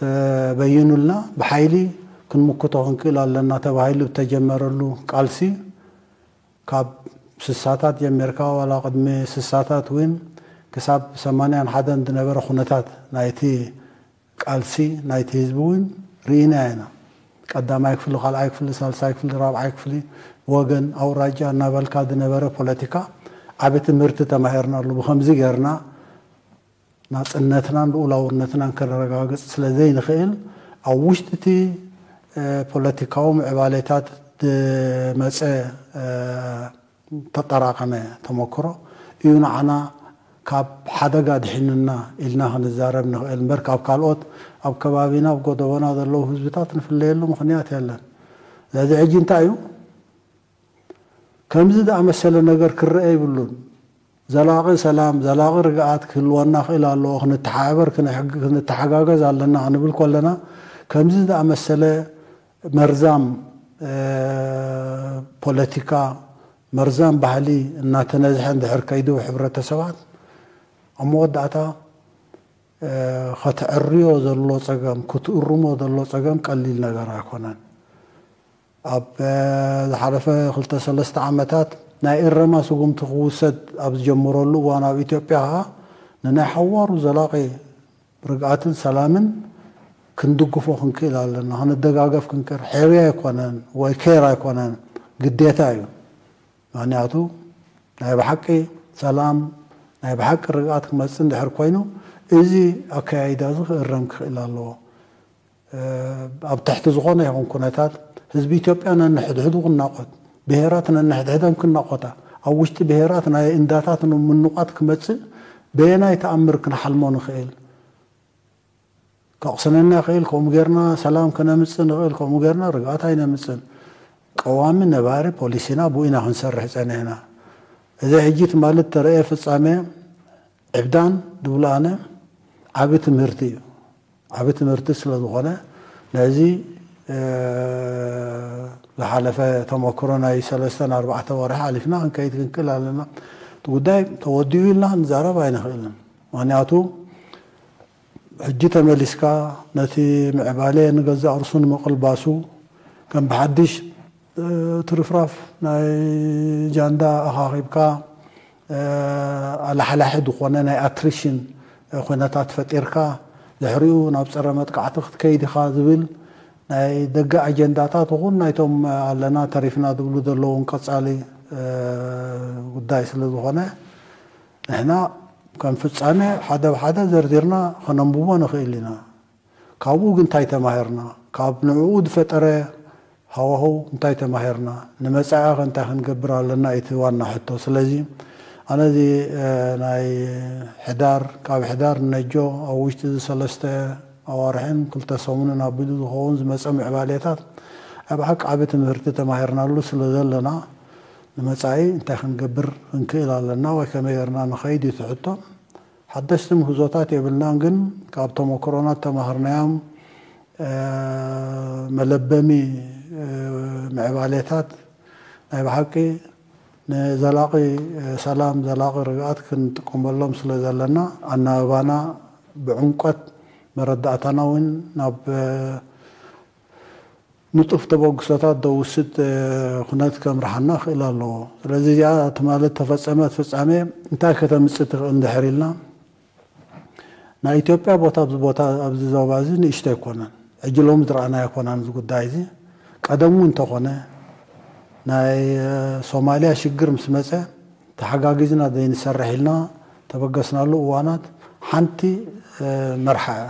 ተበይኑልና፣ ብሓይሊ ክንምክቶ ክንክእል ኣለና ተባሂሉ ዝተጀመረሉ ቃልሲ፣ ካብ ስሳታት ጀሚርካ ዋላ ቅድሚ ስሳታት እውን ክሳብ ሰማንያን ሓደን ዝነበረ ኩነታት ናይቲ ቃልሲ ናይቲ ህዝቢ እውን ርኢና ኢና። ቀዳማይ ክፍሊ፣ ካልኣይ ክፍሊ፣ ሳልሳይ ክፍሊ፣ ራብዓይ ክፍሊ፣ ወገን፣ ኣውራጃ እናበልካ ዝነበረ ፖለቲካ ዓቢ ትምህርቲ ተማሂርናሉ። ብኸምዚ ጌርና ናጽነትናን ልኡላውነትናን ከነረጋግጽ ስለ ዘይንኽእል፣ ኣብ ውሽጢ እቲ ፖለቲካዊ ምዕባሌታት ዝመጸ ተጠራቐመ ተመክሮ እዩ ንዓና ካብ ሓደጋ ድሒኑና ኢልና ክንዛረብ ንኽእል እምበር፣ ካብ ካልኦት ኣብ ከባቢና ኣብ ጎደቦና ዘለዉ ህዝብታት ንፍለየሉ ምኽንያት የለን። ስለዚ ሕጂ እንታይ እዩ? ከምዚ ዝኣመሰለ ነገር ክረአ ይብሉን። ዘላቒ ሰላም፣ ዘላቒ ርግኣት ክህልወና ክእል ኣለዎ። ክንተሓባበር፣ ክንሕግ-፣ ክንተሓጋገዝ ኣለና ክንብል ከለና፣ ከምዚ ዝኣመሰለ መርዛም ፖለቲካ፣ መርዛም ባህሊ እናተነዝሐ እንድሕር ከይዱ ሕብረተሰባት፣ ኣብ መወዳእታ ከተዕርዮ ዘሎ ጸገም፣ ክትእርሞ ዘሎ ጸገም ቀሊል ነገር ኣይኮነን። ኣብ ዝሓለፈ ክልተ ሰለስተ ዓመታት ናይ እረማ ስጉምቲ ክውሰድ ኣብ ዝጀመረሉ እዋን፣ ኣብ ኢትዮጵያ ኸኣ ንናይ ሓዋሩ ዘላቒ ርግኣትን ሰላምን ክንድግፎ ክንክእል ኣለና። ክንደጋገፍ ክንክእል፣ ሕርያ ኣይኮነን ወይ ኬር ኣይኮነን፣ ግዴታ እዩ። ምኽንያቱ ናይ ብሓቂ ሰላም፣ ናይ ብሓቂ ርግኣት ክመጽእ እንድሕር ኮይኑ፣ እዚ ኣከያይዳ እዚ ክእረም ክኽእል ኣለዎ። ኣብ ትሕቲ ዝኾነ ይኹን ኩነታት ህዝቢ ኢትዮጵያ ነንሕድሕዱ ክናቖት፣ ብሄራት ነንሕድሕደም ክናቖታ፣ ኣብ ውሽጢ ብሄራት ናይ እንዳታት ምንቋት ክመጽእ በየናይ ተኣምር ክንሓልሞ ንኽእል? ከቕስነና ይኽእል፣ ከምኡ ጌርና ሰላም ከነምጽእ ንኽእል፣ ከምኡ ጌርና ርግኣት ኣይነምጽእን። ቀዋሚ ነባሪ ፖሊሲና ብኡ ኢና ክንሰርሕ ጸኒሕና። እዚ ሕጂ ትማሊ እተረእየ ፍጻሜ ዕብዳን ድብሉ ኣነ ዓቢ ትምህርቲ እዩ። ዓቢ ትምህርቲ ስለ ዝኾነ ነዚ ዝሓለፈ ተመክሮ ናይ ሰለስተን ኣርባዕተ ወርሒ ሓሊፍና ክንከይድ ክንክእል ኣለና። እቲ ጉዳይ ተወዲኡ ኢልና ክንዛረብ ኣይንኽእልን። ምኽንያቱ ሕጂ ተመሊስካ ነቲ ምዕባለ ንገዛእ ርሱ ንምቕልባሱ ከም ብሓድሽ ትርፍራፍ ናይ ጃንዳ ኣኻኺብካ ኣላሕላሒ ዝኾነ ናይ ኣትሪሽን ኩነታት ፈጢርካ ድሕሪኡ ናብ ጸረ መጥቃዕቲ ክትከይድ ኢኻ ዝብል ናይ ደገ ኣጀንዳታት ይኹን ናይቶም ኣለና ተሪፍና ዝብሉ ዘለውን ቀጻሊ ጉዳይ ስለ ዝኾነ ንሕና ከም ፍጻሜ ሓደ ብሓደ ዘርዚርና ከነንብቦ ንኽእል ኢና። ካብኡ ግን እንታይ ተማሂርና? ካብ ንዕኡ ዝፈጠረ ሃዋህው እንታይ ተማሂርና? ንመጻኢኸ እንታይ ክንገብር ኣለና? እቲ ዋና ሕቶ። ስለዚ ኣነ እዚ ናይ ሕዳር፣ ካብ ሕዳር ንነጆ ኣብ ውሽጢ እዚ ሰለስተ ኣዋርሕን ክልተ ሰሙንን ኣቢሉ ዝኸውን ዝመጸ ምዕባሌታት ኣብ ሓቂ ዓቢ ትምህርቲ ተማሂርናሉ ስለ ዘለና ንመጻኢ እንታይ ክንገብር ክንክእል ኣለና ወይ ከመይ ጌርና ንኸይድ እዩ እቲ ሕቶ። ሓደሽቲ ምህዞታት የብልናን፣ ግን ካብ ተመክሮና ተማሃርናዮም መለበሚ ምዕባሌታት ናይ ብሓቂ ንዘላቒ ሰላም፣ ዘላቒ ርግኣት ክንጥቀመሎም ስለ ዘለና ኣናብባና ብዕምቆት መረዳእታና እውን ናብ ንጡፍ ተበግሶታት ዘውስድ ኩነት ከምርሓና ክእል ኣለዎ። ስለዚ እዚኣ ትማሊ ተፈጸመት ፍጻሜ እንታይ ከተምጽእ ትኽእል እንድሕር ኢልና፣ ናይ ኢትዮጵያ ቦታ ኣብዚ ቦታ ኣብዚ ዞባ እዚ ንእሽቶ ኣይኮነን። ሕጂ ሎሚ ዝረኣናዮ ኣይኮነን እዚ ጉዳይ እዚ። ቀደም እውን እንተኾነ ናይ ሶማልያ ሽግር ምስ መጸ ተሓጋጊዝና ዘይንሰርሕ ኢልና ተበገስናሉ እዋናት ሓንቲ መርሓ እያ።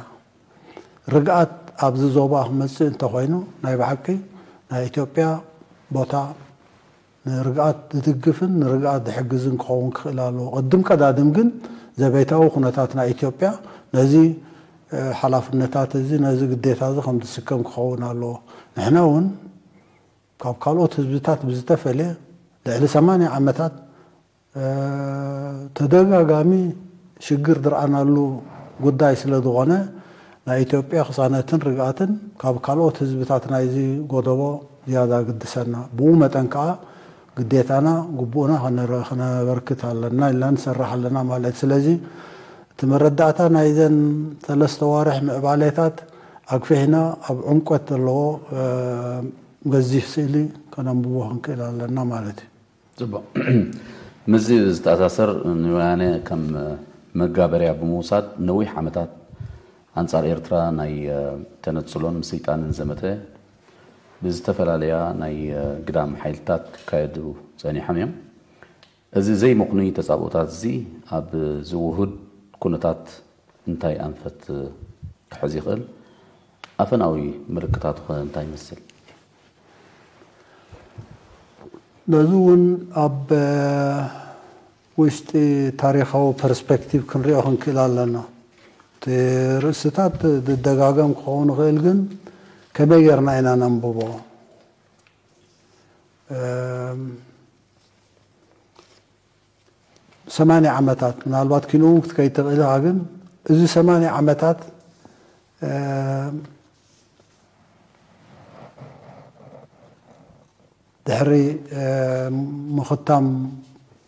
ርግኣት ኣብዚ ዞባ ክመፅእ እንተኾይኑ ናይ ብሓቂ ናይ ኢትዮጵያ ቦታ ንርግኣት ዝድግፍን ንርግኣት ዝሕግዝን ክኸውን ክኽእል ኣለዎ። ቅድም ቀዳድም ግን ዘቤታዊ ኩነታት ናይ ኢትዮጵያ ነዚ ሓላፍነታት እዚ ነዚ ግዴታ እዚ ከም ዝስከም ክኸውን ኣለዎ። ንሕና እውን ካብ ካልኦት ህዝብታት ብዝተፈለየ ልዕሊ ሰማንያ ዓመታት ተደጋጋሚ ሽግር ዝረኣናሉ ጉዳይ ስለ ዝኾነ ናይ ኢትዮጵያ ቅሳነትን ርግኣትን ካብ ካልኦት ህዝብታት ናይዚ ጎደቦ ዝያዳ ግድሰና። ብኡ መጠን ከዓ ግዴታና ግቡእና ከነበርክት ኣለና ኢልና ንሰርሕ ኣለና ማለት። ስለዚ እቲ መረዳእታ ናይዘን ሰለስተ ዋርሕ ምዕባሌታት ኣግፊሕና ኣብ ዕምቆት ዘለዎ ገዚፍ ስእሊ ከነንብቦ ክንክእል ኣለና ማለት እዩ። ፅቡቕ። ምስዚ ዝተኣሳሰር ንወያነ ከም መጋበርያ ብምውሳድ ነዊሕ ዓመታት ኣንፃር ኤርትራ ናይ ተነፅሎን ምስይጣንን ዘመተ ብዝተፈላለያ ናይ ግዳም ሓይልታት ክካየዱ ፀኒሖም እዮም። እዚ ዘይምኽኑይ ተፃብኦታት እዚ ኣብ ዝውሁድ ኩነታት እንታይ ኣንፈት ክሕዝ ይኽእል? ኣፈናዊ ምልክታቱ ኸ እንታይ ይመስል? ነዚ እውን ኣብ ውሽጢ ታሪኻዊ ፐርስፔክቲቭ ክንሪኦ ክንክእል ኣለና። እቲ ርእስታት ዝደጋገም ክኸውን ይኽእል፣ ግን ከመይ ጌርና ኢና ነንብቦ? ሰማንያ ዓመታት ምናልባት ኪንኡ ክትከይድ ትኽእል ኢኻ፣ ግን እዚ ሰማንያ ዓመታት ድሕሪ ምኽታም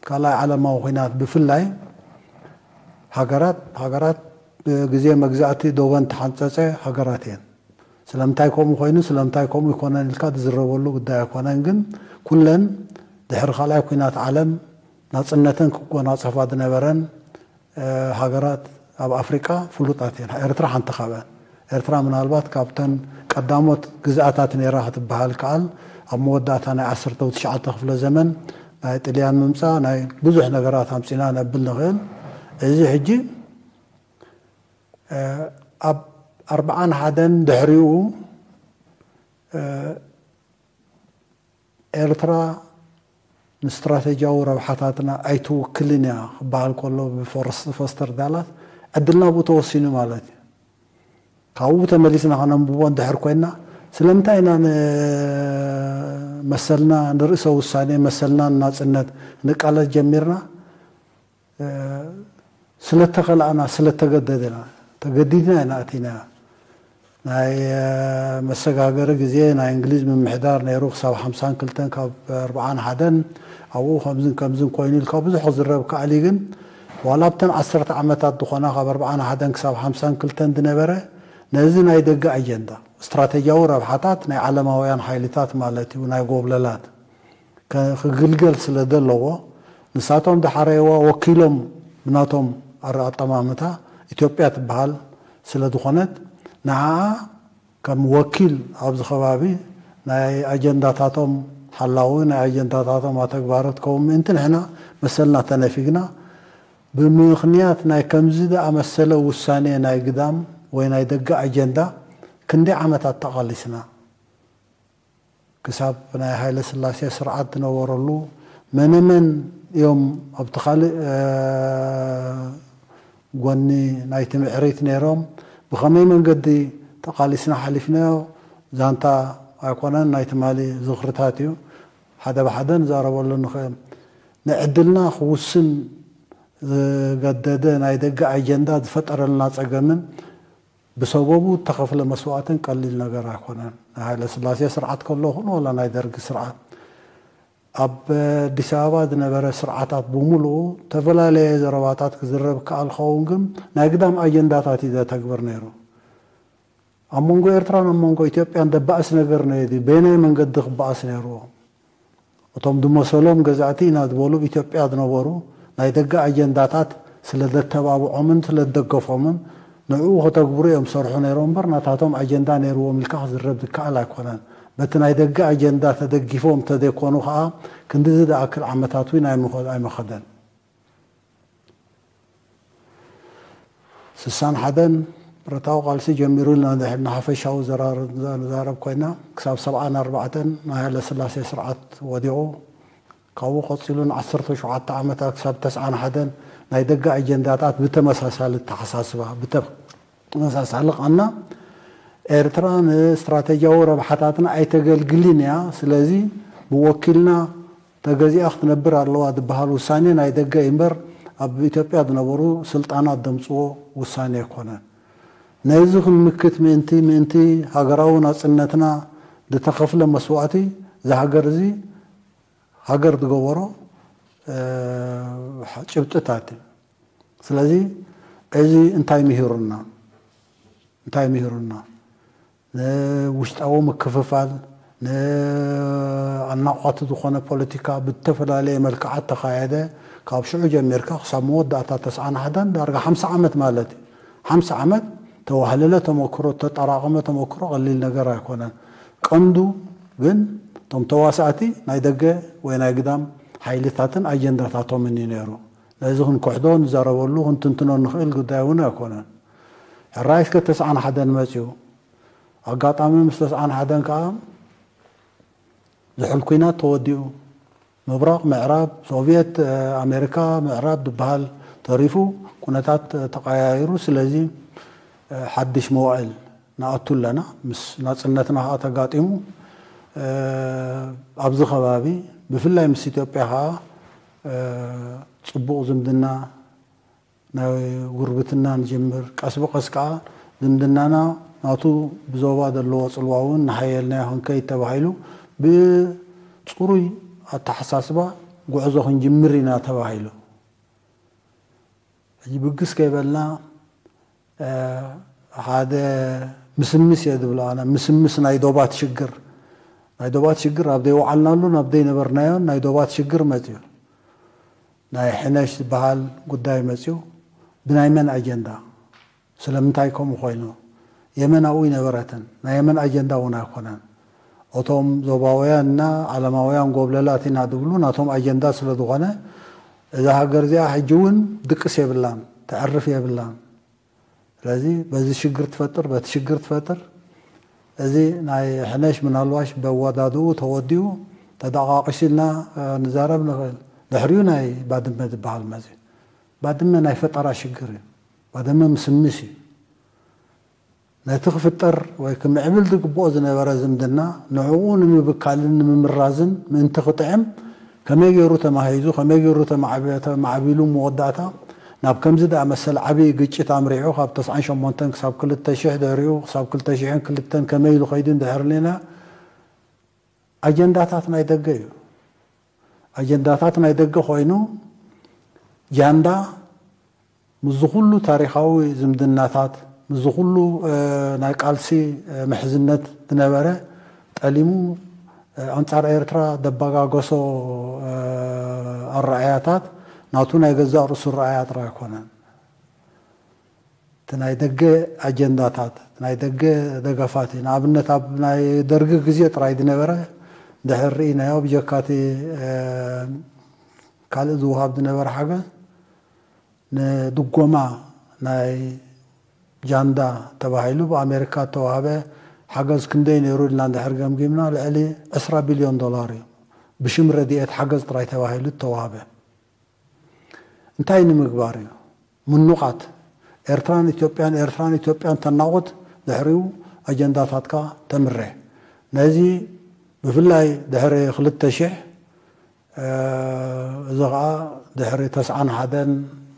ካልኣይ ዓለማዊ ኹናት ብፍላይ ሃገራት ሃገራት ብግዜ መግዛእቲ ዶበን ተሓንፀፀ ሃገራት እየን። ስለምንታይ ከምኡ ኮይኑ ስለምንታይ ከምኡ ይኮነን ኢልካ ዝዝረበሉ ጉዳይ ኣይኮነን። ግን ኩለን ድሕሪ ካልኣይ ኲናት ዓለም ናፅነተን ክጎናፀፋ ዝነበረን ሃገራት ኣብ ኣፍሪቃ ፍሉጣት እየን። ኤርትራ ሓንቲ ካብአን። ኤርትራ ምናልባት ካብተን ቀዳሞት ግዝኣታት ነይራ ክትበሃል ከኣል ኣብ መወዳእታ ናይ ዓሰርተ ትሽዓተ ክፍለ ዘመን ናይ ጥልያን ምምፃእ ናይ ብዙሕ ነገራት ኣምፂና ነብል ንኽእል። እዚ ሕጂ ኣብ ኣርብዓን ሓደን ድሕሪኡ ኤርትራ ንስትራተጂያዊ ረብሓታትና ኣይትውክልን እያ ክበሃል ከሎ ብፎስተር ዳላስ ዕድልና ብኡ ተወሲኑ ማለት እዩ። ካብኡ ተመሊስና ከነንብቦ እንድሕር ኮይና ስለምንታይ ኢና ንመሰልና ንርእሰ ውሳኔ መሰልና ንናጽነት ንቃለስ ጀሚርና? ስለተኸላእና ስለተገደድና ተገዲድና ኢና ኣቲና። ናይ መሰጋገሪ ግዜ ናይ እንግሊዝ ምምሕዳር ነይሩ ክሳብ ሓምሳን ክልተን ካብ ኣርብዓን ሓደን ኣብኡ ከምዝን ከምዝን ኮይኑ ኢልካ ብዙሕ ክዝረብ ከኣል እዩ። ግን ዋላ ኣብተን ዓሰርተ ዓመታት ዝኾና ካብ ኣርብዓን ሓደን ክሳብ ሓምሳን ክልተን ዝነበረ ነዚ ናይ ደገ ኣጀንዳ ስትራተጂያዊ ረብሓታት ናይ ዓለማውያን ሓይልታት ማለት እዩ ናይ ጎብለላት ክግልገል ስለ ዘለዎ ንሳቶም ዝሓረይዋ ወኪሎም ብናቶም ኣጠማምታ ኢትዮጵያ ትበሃል ስለ ዝኾነት ንዓኣ ከም ወኪል ኣብዚ ከባቢ ናይ ኣጀንዳታቶም ሓላዊ ናይ ኣጀንዳታቶም ኣተግባሮት ከውን ምእንቲ ንሕና መሰልና ተነፊግና ብምኽንያት ናይ ከምዚ ዝኣመሰለ ውሳኔ ናይ ግዳም ወይ ናይ ደገ ኣጀንዳ ክንደይ ዓመታት ተቓሊስና። ክሳብ ናይ ሃይለ ስላሴ ስርዓት ዝነበረሉ መነመን እዮም ኣብቲ ካልእ ጎኒ ናይቲ ምዕሪት ነይሮም? ብኸመይ መንገዲ ተቓሊስና ሓሊፍናዮ? ዛንታ ኣይኮነን ናይ ትማሊ ዝኽርታት እዩ። ሓደ ብሓደ ንዛረበሉ ንኽእል። ንዕድልና ክውስን ዝገደደ ናይ ደገ ኣጀንዳ ዝፈጠረልና ጸገምን ብሰበቡ እተኸፍለ መስዋእትን ቀሊል ነገር ኣይኮነን። ናይ ሃይለ ስላሴ ስርዓት ከሎ ኹን ዋላ ናይ ደርጊ ስርዓት ኣብ ኣዲስ ኣበባ ዝነበረ ስርዓታት ብምሉኡ ዝተፈላለየ ዘረባታት ክዝረብ ከኣል ኸውን ግን ናይ ግዳም ኣጀንዳታት እዩ ዘተግብር ነይሩ። ኣብ መንጎ ኤርትራን ኣብ መንጎ ኢትዮጵያን ደባእስ ነገር ነዩ በየናይ መንገዲ ክበኣስ ነይርዎ? እቶም ዝመሰሎም ገዛእቲ ኢና ዝበሉ ኣብ ኢትዮጵያ ዝነበሩ ናይ ደገ ኣጀንዳታት ስለ ዘተባብዖምን ስለ ዝደገፎምን ንዕኡ ከተግብሩ እዮም ዝሰርሑ ነይሮም እምበር ናታቶም ኣጀንዳ ነይርዎም ኢልካ ክዝረብ ዝከኣል ኣይኮነን። በቲ ናይ ደገ ኣጀንዳ ተደጊፎም ተዘይኮኑ ከዓ ክንድዚ ዝኣክል ዓመታት እውን ኣይመኸ- ኣይመኸደን። ስሳን ሓደን ብረታዊ ቃልሲ ጀሚሩ ኢልና እንድሕር ንሓፈሻዊ ዘራር-፣ ዘራረብ ኮይና፣ ክሳብ ሰብዓን ኣርባዕተን ናይ ሃይለስላሴ ስርዓት ወዲቑ፣ ካብኡ ቀጺሉ ንዓሰርተ ሸውዓተ ዓመታት ክሳብ ተስዓን ሓደን ናይ ደገ ኣጀንዳታት ብተመሳሳሊ ኣተሓሳስባ፣ ብተመሳሳሊ ቃና ኤርትራ ንስትራቴጂያዊ ረብሓታትና ኣይተገልግልን እያ፣ ስለዚ ብወኪልና ተገዚኣ ክትነብር ኣለዋ ዝበሃል ውሳኔ ናይ ደገ እዩ እምበር ኣብ ኢትዮጵያ ዝነበሩ ስልጣናት ዘምጽዎ ውሳኔ ኣይኮነን። ነዚ ክንምክት ምእንቲ፣ ምእንቲ ሃገራዊ ናጽነትና ዝተኸፍለ መስዋእቲ፣ እዚ ሃገር እዚ ሃገር ዝገበሮ፣ እ፣ ጭብጥታት እዩ። ስለዚ እዚ እንታይ ምሂሩና? እንታይ ምሂሩና? ንውሽጣዊ ምክፍፋል፣ ንኣናቋቲ ዝኾነ ፖለቲካ ብዝተፈላለየ መልክዓት ተኻየደ። ካብ ሽዑ ጀሚርካ ክሳብ መወዳእታ ተስዓን ሓደን ዳርጋ ሓምሳ ዓመት ማለት እዩ። ሓምሳ ዓመት ተዋህለለ ተመክሮ፣ ተጠራቐመ ተመክሮ ቀሊል ነገር ኣይኮነን። ቀንዱ ግን እቶም ተዋሳእቲ ናይ ደገ ወይ ናይ ግዳም ሓይልታትን ኣጀንዳታቶምን እዩ ነይሩ። ነዚ ክንክሕዶ፣ ንዛረበሉ፣ ክንትንትኖ ንኽእል ጉዳይ እውን ኣይኮነን። ሕራይ እስከ ተስዓን ሓደን መፅዩ። ኣጋጣሚ ምስ ተስዓን ሓደን ከዓ ዝሑል ኲናት ተወዲኡ። ምብራቕ፣ ምዕራብ፣ ሶቪየት፣ እ፣ ኣሜሪካ፣ ምዕራብ ዝበሃል ተሪፉ፣ ኩነታት፣ እ፣ ተቐያይሩ። ስለዚ፣ እ፣ ሓድሽ መዋእል ንኣቱ ኣለና። ምስ ናጽነትና ኸኣ ተጋጢሙ፣ እ፣ ኣብዚ ከባቢ ብፍላይ ምስ ኢትዮጵያ ኸኣ፣ እ፣ ጽቡቕ ዝምድና ናይ ጉርብትና ንጅምር። ቀስ ብቐስ ከኣ ዝምድናና ናቱ ብዞባ ዘለዎ ጽልዋ እውን እናሓየልናዮ ክንከይድ ተባሂሉ ብጽሩይ ኣተሓሳስባ ጉዕዞ ክንጅምር ኢና ተባሂሉ። ሕጂ ብግስ ከይበልና፣ እ፣ ሓደ ምስምስ እየ ዝብሎ ኣነ፣ ምስምስ ናይ ዶባት ሽግር። ናይ ዶባት ሽግር ኣብ ዘይወዓልናሉን ኣብ ዘይነበርናዮን ናይ ዶባት ሽግር መጽዩ። ናይ ሕነሽ ዝበሃል ጉዳይ መጽዩ። ብናይ መን ኣጀንዳ? ስለምንታይ ከምኡ ኮይኑ? የመን ኣብኡ ኣይነበረትን። ናይ የመን ኣጀንዳ እውን ኣይኮነን። እቶም ዞባውያን እና ዓለማውያን ጎብለላት ኢና ዝብሉ ናቶም ኣጀንዳ ስለ ዝኾነ፣ እዛ ሃገር እዚኣ ሕጂ እውን ድቅስ የብላን፣ ተዕርፍ የብላን። ስለዚ በዚ ሽግር ትፈጥር፣ በቲ ሽግር ትፈጥር። እዚ ናይ ሕነሽ ምናልባሽ በወዳድኡ ተወዲኡ ተደቃቂሱ ኢልና፣ እ፣ ንዛረብ ንኽእል። ድሕሪኡ ናይ ባድመ ዝበሃል መፅዩ። ባድመ ናይ ፈጠራ ሽግር እዩ። ባድመ ምስምስ እዩ። ነቲ ክፍጠር ወይ ክምዕብል ዝግብኦ ዝነበረ ዝምድና ንዕኡ ንምብካልን ንምምራዝን ምእንቲ ክጥዕም ከመይ ገይሩ ተማሂዙ፣ ከመይ ገይሩ ተማዕበ-፣ ተማዕቢሉ መወዳእታ ናብ ከምዚ ደኣ መሰል ዓብዪ ግጭት ኣምሪሑ ካብ ተስዓን ሸሞንተን ክሳብ ክልተ ሽሕ ድሕሪኡ ክሳብ ክልተ ሽሕን ክልተን ከመይ ኢሉ ከይዱ እንድሕር ልና ኣጀንዳታት ናይ ደገ እዩ። ኣጀንዳታት ናይ ደገ ኮይኑ ጃንዳ ምስዚ ኩሉ ታሪኻዊ ዝምድናታት፣ ምስዚ ኩሉ፣ እ፣ ናይ ቃልሲ፣ እ፣ ምሕዝነት ዝነበረ ጠሊሙ፣ እ፣ ኣንጻር ኤርትራ ደባጋገሶ፣ እ፣ ኣረኣያታት ናቱ ናይ ገዛእ ርእሱ ኣረኣያ ጥራይ ኣይኮነን። እቲ ናይ ደገ ኣጀንዳታት፣ ናይ ደገ ደገፋት እዩ። ንኣብነት ኣብ ናይ ደርጊ ግዜ ጥራይ ዝነበረ ድሕር ርኢናዮ ብጀካቲ፣ እ፣ ካልእ ዝወሃብ ዝነበረ ሓገዝ ንድጎማ ናይ ጃንዳ ተባሂሉ ብኣሜሪካ እተዋህበ ሓገዝ ክንደይ ነይሩ ኢልና እንድሕር ገምጊምና ልዕሊ ዕስራ ቢልዮን ዶላር እዩ። ብሽም ረድኤት ሓገዝ ጥራይ ተባሂሉ እተዋህበ። እንታይ ንምግባር እዩ? ምኑቓት ኤርትራን ኢትዮጵያን፣ ኤርትራን ኢትዮጵያን ተናቑት፣ ድሕሪኡ ኣጀንዳታትካ ተምሬ። ነዚ ብፍላይ ድሕሪ ክልተ ሽሕ፣ እ፣ እዚ ኸኣ ድሕሪ ተስዓን ሓደን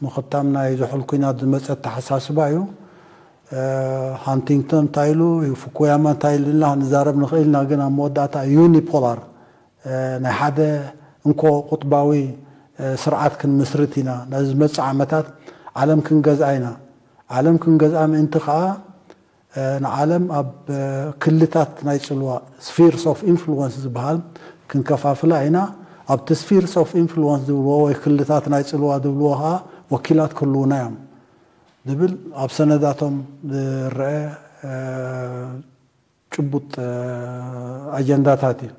ምኽታም ናይ ዝሑል ኲናት ዝመጸ ኣተሓሳስባ እዩ። እ፣ ሃንቲንግቶን እንታይ ኢሉ፣ ፉኩያማ እንታይ ኢሉ ኢልና ክንዛረብ ንኽእል ኢና፣ ግን ኣብ መወዳእታ ዩኒፖላር፣ እ፣ ናይ ሓደ እንኮ ቁጥባዊ፣ እ፣ ስርዓት ክንምስርት ኢና። ነዚ ዝመጽእ ዓመታት ዓለም ክንገዝኣ ኢና። ዓለም ክንገዝኣ ምእንቲ ኸኣ፣ እ፣ ንዓለም ኣብ፣ እ፣ ክልታት ናይ ጽልዋ፣ ስፊርስ ኦፍ ኢንፍሉወንስ ዝበሃል ክንከፋፍላ ኢና። ኣብቲ ስፊርስ ኦፍ ኢንፍሉወንስ ዝብልዎ ወይ ክልታት ናይ ጽልዋ ዝብልዎ ኸኣ ወኪላት ክህልዉና እዮም ዝብል ኣብ ሰነዳቶም ዝረአ፣ እ፣ ጭቡጥ፣ እ፣ ኣጀንዳታት እዩ።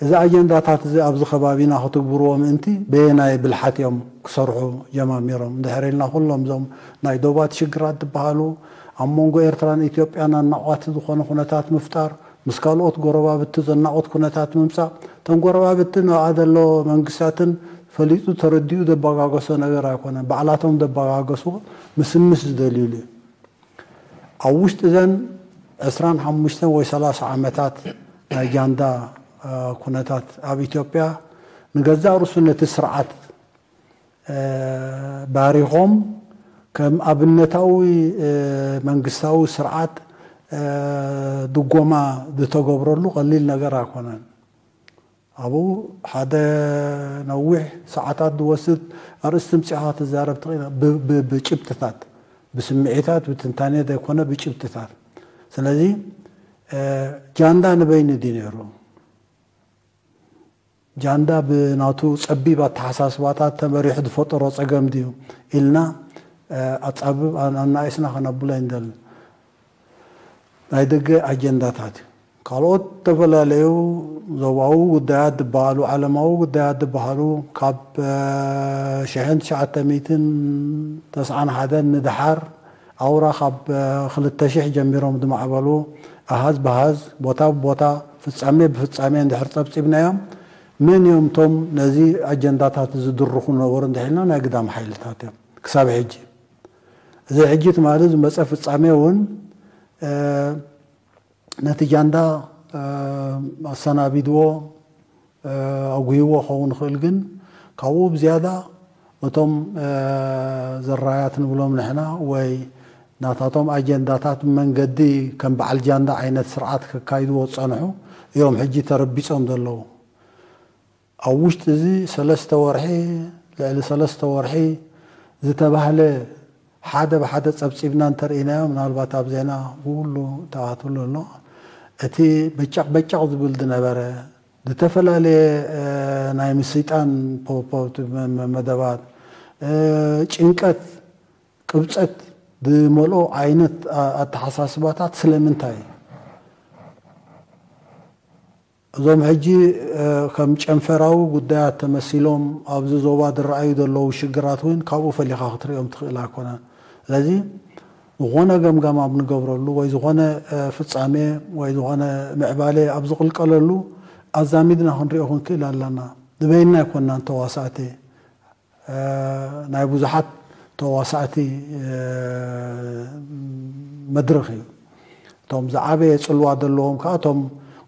እዚ ኣጀንዳታት እዚ ኣብዚ ከባቢና ክትግብርዎ ምእንቲ በየናይ ብልሓት እዮም ክሰርሑ ጀማሚሮም? እንድሕር ኢልና፣ ኩሎም እዞም ናይ ዶባት ሽግራት ዝበሃሉ፣ ኣብ መንጎ ኤርትራን ኢትዮጵያን ኣናቋቲ ዝኾነ ኩነታት ምፍጣር፣ ምስ ካልኦት ጎረባብቲ ዘናቑት ኩነታት ምምጻእ፣ እተን ጎረባብቲ፣ ንኣ ዘሎ መንግስታትን ፈሊጡ ተረዲኡ ዘበጋገሶ ነገር ኣይኮነን። ባዕላቶም ዘበጋገስዎ ምስምስ ዝደልዩሉ እዩ። ኣብ ውሽጢ እዘን ዕስራን ሓሙሽተን ወይ ሰላሳ ዓመታት ናይ ጃንዳ ኩነታት ኣብ ኢትዮጵያ፣ ንገዛእ ርእሱ ነቲ ስርዓት ባሪኾም፣ ከም ኣብነታዊ መንግስታዊ ስርዓት ድጎማ ዝተገብረሉ ቀሊል ነገር ኣይኮነን። ኣብኡ ሓደ ነዊሕ ሰዓታት ዝወስድ ኣርእስቲ ምጽኻ ትዛረብ ትኽእል፣ ብ- ብ- ብጭብጥታት፣ ብስምዒታት፣ ብትንታኔ ዘይኮነ ብጭብጥታት። ስለዚ ጃንዳ ንበይኑ ድዩ ነይሩ? ጃንዳ ብናቱ ጸቢብ ኣተሓሳስባታት ተመሪሑ ዝፈጠሮ ጸገም ድዩ ኢልና ኣጻብብ ኣናእስና ከነብሎ ኣይንደልን። ናይ ደገ ኣጀንዳታት እዩ። ካልኦት ዝተፈላለዩ ዞባዊ ጉዳያት ዝበሃሉ፣ ዓለማዊ ጉዳያት ዝበሃሉ፣ ካብ ሽሕን ትሽዓተ ሚእትን ተስዓን ሓደን ንደሓር፣ ኣውራ ካብ ክልተ ሽሕ ጀሚሮም ዝማዕበሉ፣ ኣሃዝ ብሃዝ፣ ቦታ ብቦታ፣ ፍጻሜ ብፍጻሜ እንድሕር ጸብጺብናዮም፣ መን እዮም እቶም ነዚ ኣጀንዳታት ዝድርኹ ነበሩ እንድሕልና፣ ናይ ግዳም ሓይልታት እዮም ክሳብ ሕጂ። እዚ ሕጂ ትማሊ ዝመጸ ፍጻሜ እውን ነቲ ጃንዳ ኣሰናቢድዎ፣ ኣጉህይዎ ክኸውን ይኽእል። ግን ካብኡ ብዝያዳ እቶም ዘራያት ንብሎም ንሕና፣ ወይ ናታቶም ኣጀንዳታት መንገዲ ከም በዓል ጃንዳ ዓይነት ስርዓት ከካይድዎ ዝጸንሑ እዮም ሕጂ ተረቢጾም ዘለዉ። ኣብ ውሽጢ እዚ ሰለስተ ወርሒ፣ ልዕሊ ሰለስተ ወርሒ ዝተባህለ ሓደ ብሓደ ጸብጺብና እንተርኢናዮ፣ ምናልባት ኣብ ዜና ብኩሉ ተኣትሉ ኣሎ። እቲ በጨቕ በጨቕ ዝብል ዝነበረ፣ ዝተፈላለየ ናይ ምስይጣን ፖፖት መደባት፣ ጭንቀት፣ ቅብጸት ዝመልኦ ዓይነት ኣተሓሳስባታት ስለምንታይ? እዞም ሕጂ ከም ጨንፈራዊ ጉዳያት ተመሲሎም ኣብዚ ዞባ ዝረኣዩ ዘለዉ ሽግራት እውን ካብኡ ፈሊኻ ክትሪኦም ትኽእል ኣይኮነን። ስለዚ ዝኾነ ገምጋም ኣብ ንገብረሉ ወይ ዝኾነ ፍጻሜ ወይ ዝኾነ ምዕባለ ኣብ ዝቕልቀለሉ ኣዛሚድና ክንሪኦ ክንክእል ኣለና። ንበይንና ኣይኮንናን ተዋሳእቲ። ናይ ብዙሓት ተዋሳእቲ መድረኽ እዩ። እቶም ዝዓበየ ጽልዋ ዘለዎም ከኣ እቶም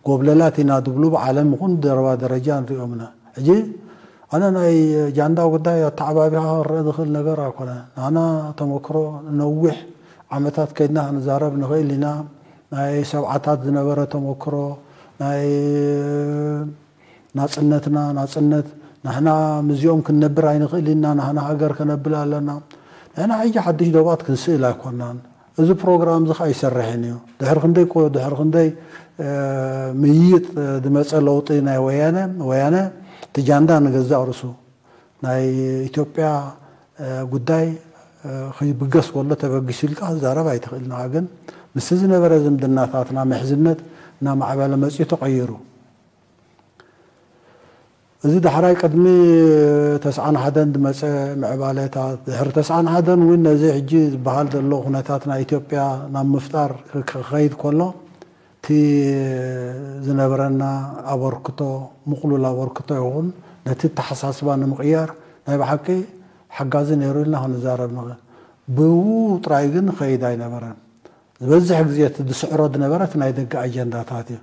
ጎብለላት ኢና ዝብሉ ብዓለም ይኹን ደረባ ደረጃ ንሪኦም ኢና። ሕጂ ኣነ ናይ ጃንዳ ጉዳይ ኣተዓባቢኻ ክረአ ዝኽእል ነገር ኣይኮነ። ንሕና ተመክሮ ነዊሕ ዓመታት ከይድና ክንዛረብ ንኽእል ኢና። ናይ ሰብዓታት ዝነበረ ተመክሮ፣ ናይ ናጽነትና ናጽነት፣ ንሕና ምስዚኦም ክንነብር ኣይንኽእል ኢና፣ ንሕና ሃገር ከነብል ኣለና። ንሕና ሕጂ ሓድሽ ዶባት ክንስእል ኣይኮናን። እዚ ፕሮግራም እዚ ኸኣ ኣይሰርሕን እዩ። ድሕሪ ክንደይ ኮ-፣ ድሕሪ ክንደይ ምይይጥ ዝመጸ ለውጢ ናይ ወያነ፣ ወያነ እቲ ጃንዳ ንገዛእ ርእሱ ናይ ኢትዮጵያ ጉዳይ ክብገስ ከሎ ተበጊሱ ኢልካ ክዛረብ ኣይትኽእል። ንዓ ግን ምስቲ ዝነበረ ዝምድናታትና ምሕዝነት እናማዕበለ መጺኡ ተቐይሩ። እዚ ዳሕራይ ቅድሚ ተስዓን ሓደን ዝመጸ ምዕባለታት፣ ድሕሪ ተስዓን ሓደን እውን ነዚ ሕጂ ዝበሃል ዘሎ ኩነታት ናይ ኢትዮጵያ ናብ ምፍጣር ክኸይድ ከሎ፣ እቲ ዝነበረና ኣበርክቶ፣ ምቕሉል ኣበርክቶ ይኹን፣ ነቲ ኣተሓሳስባ ንምቕያር ናይ ብሓቂ ሓጋዚ ነይሩ ኢልና ክንዛረብ ንኽእል። ብኡ ጥራይ ግን ኸይድ ኣይነበረን። ዝበዝሕ ግዜ እቲ ዝስዕሮ ዝነበረ እቲ ናይ ደገ ኣጀንዳታት እዩ።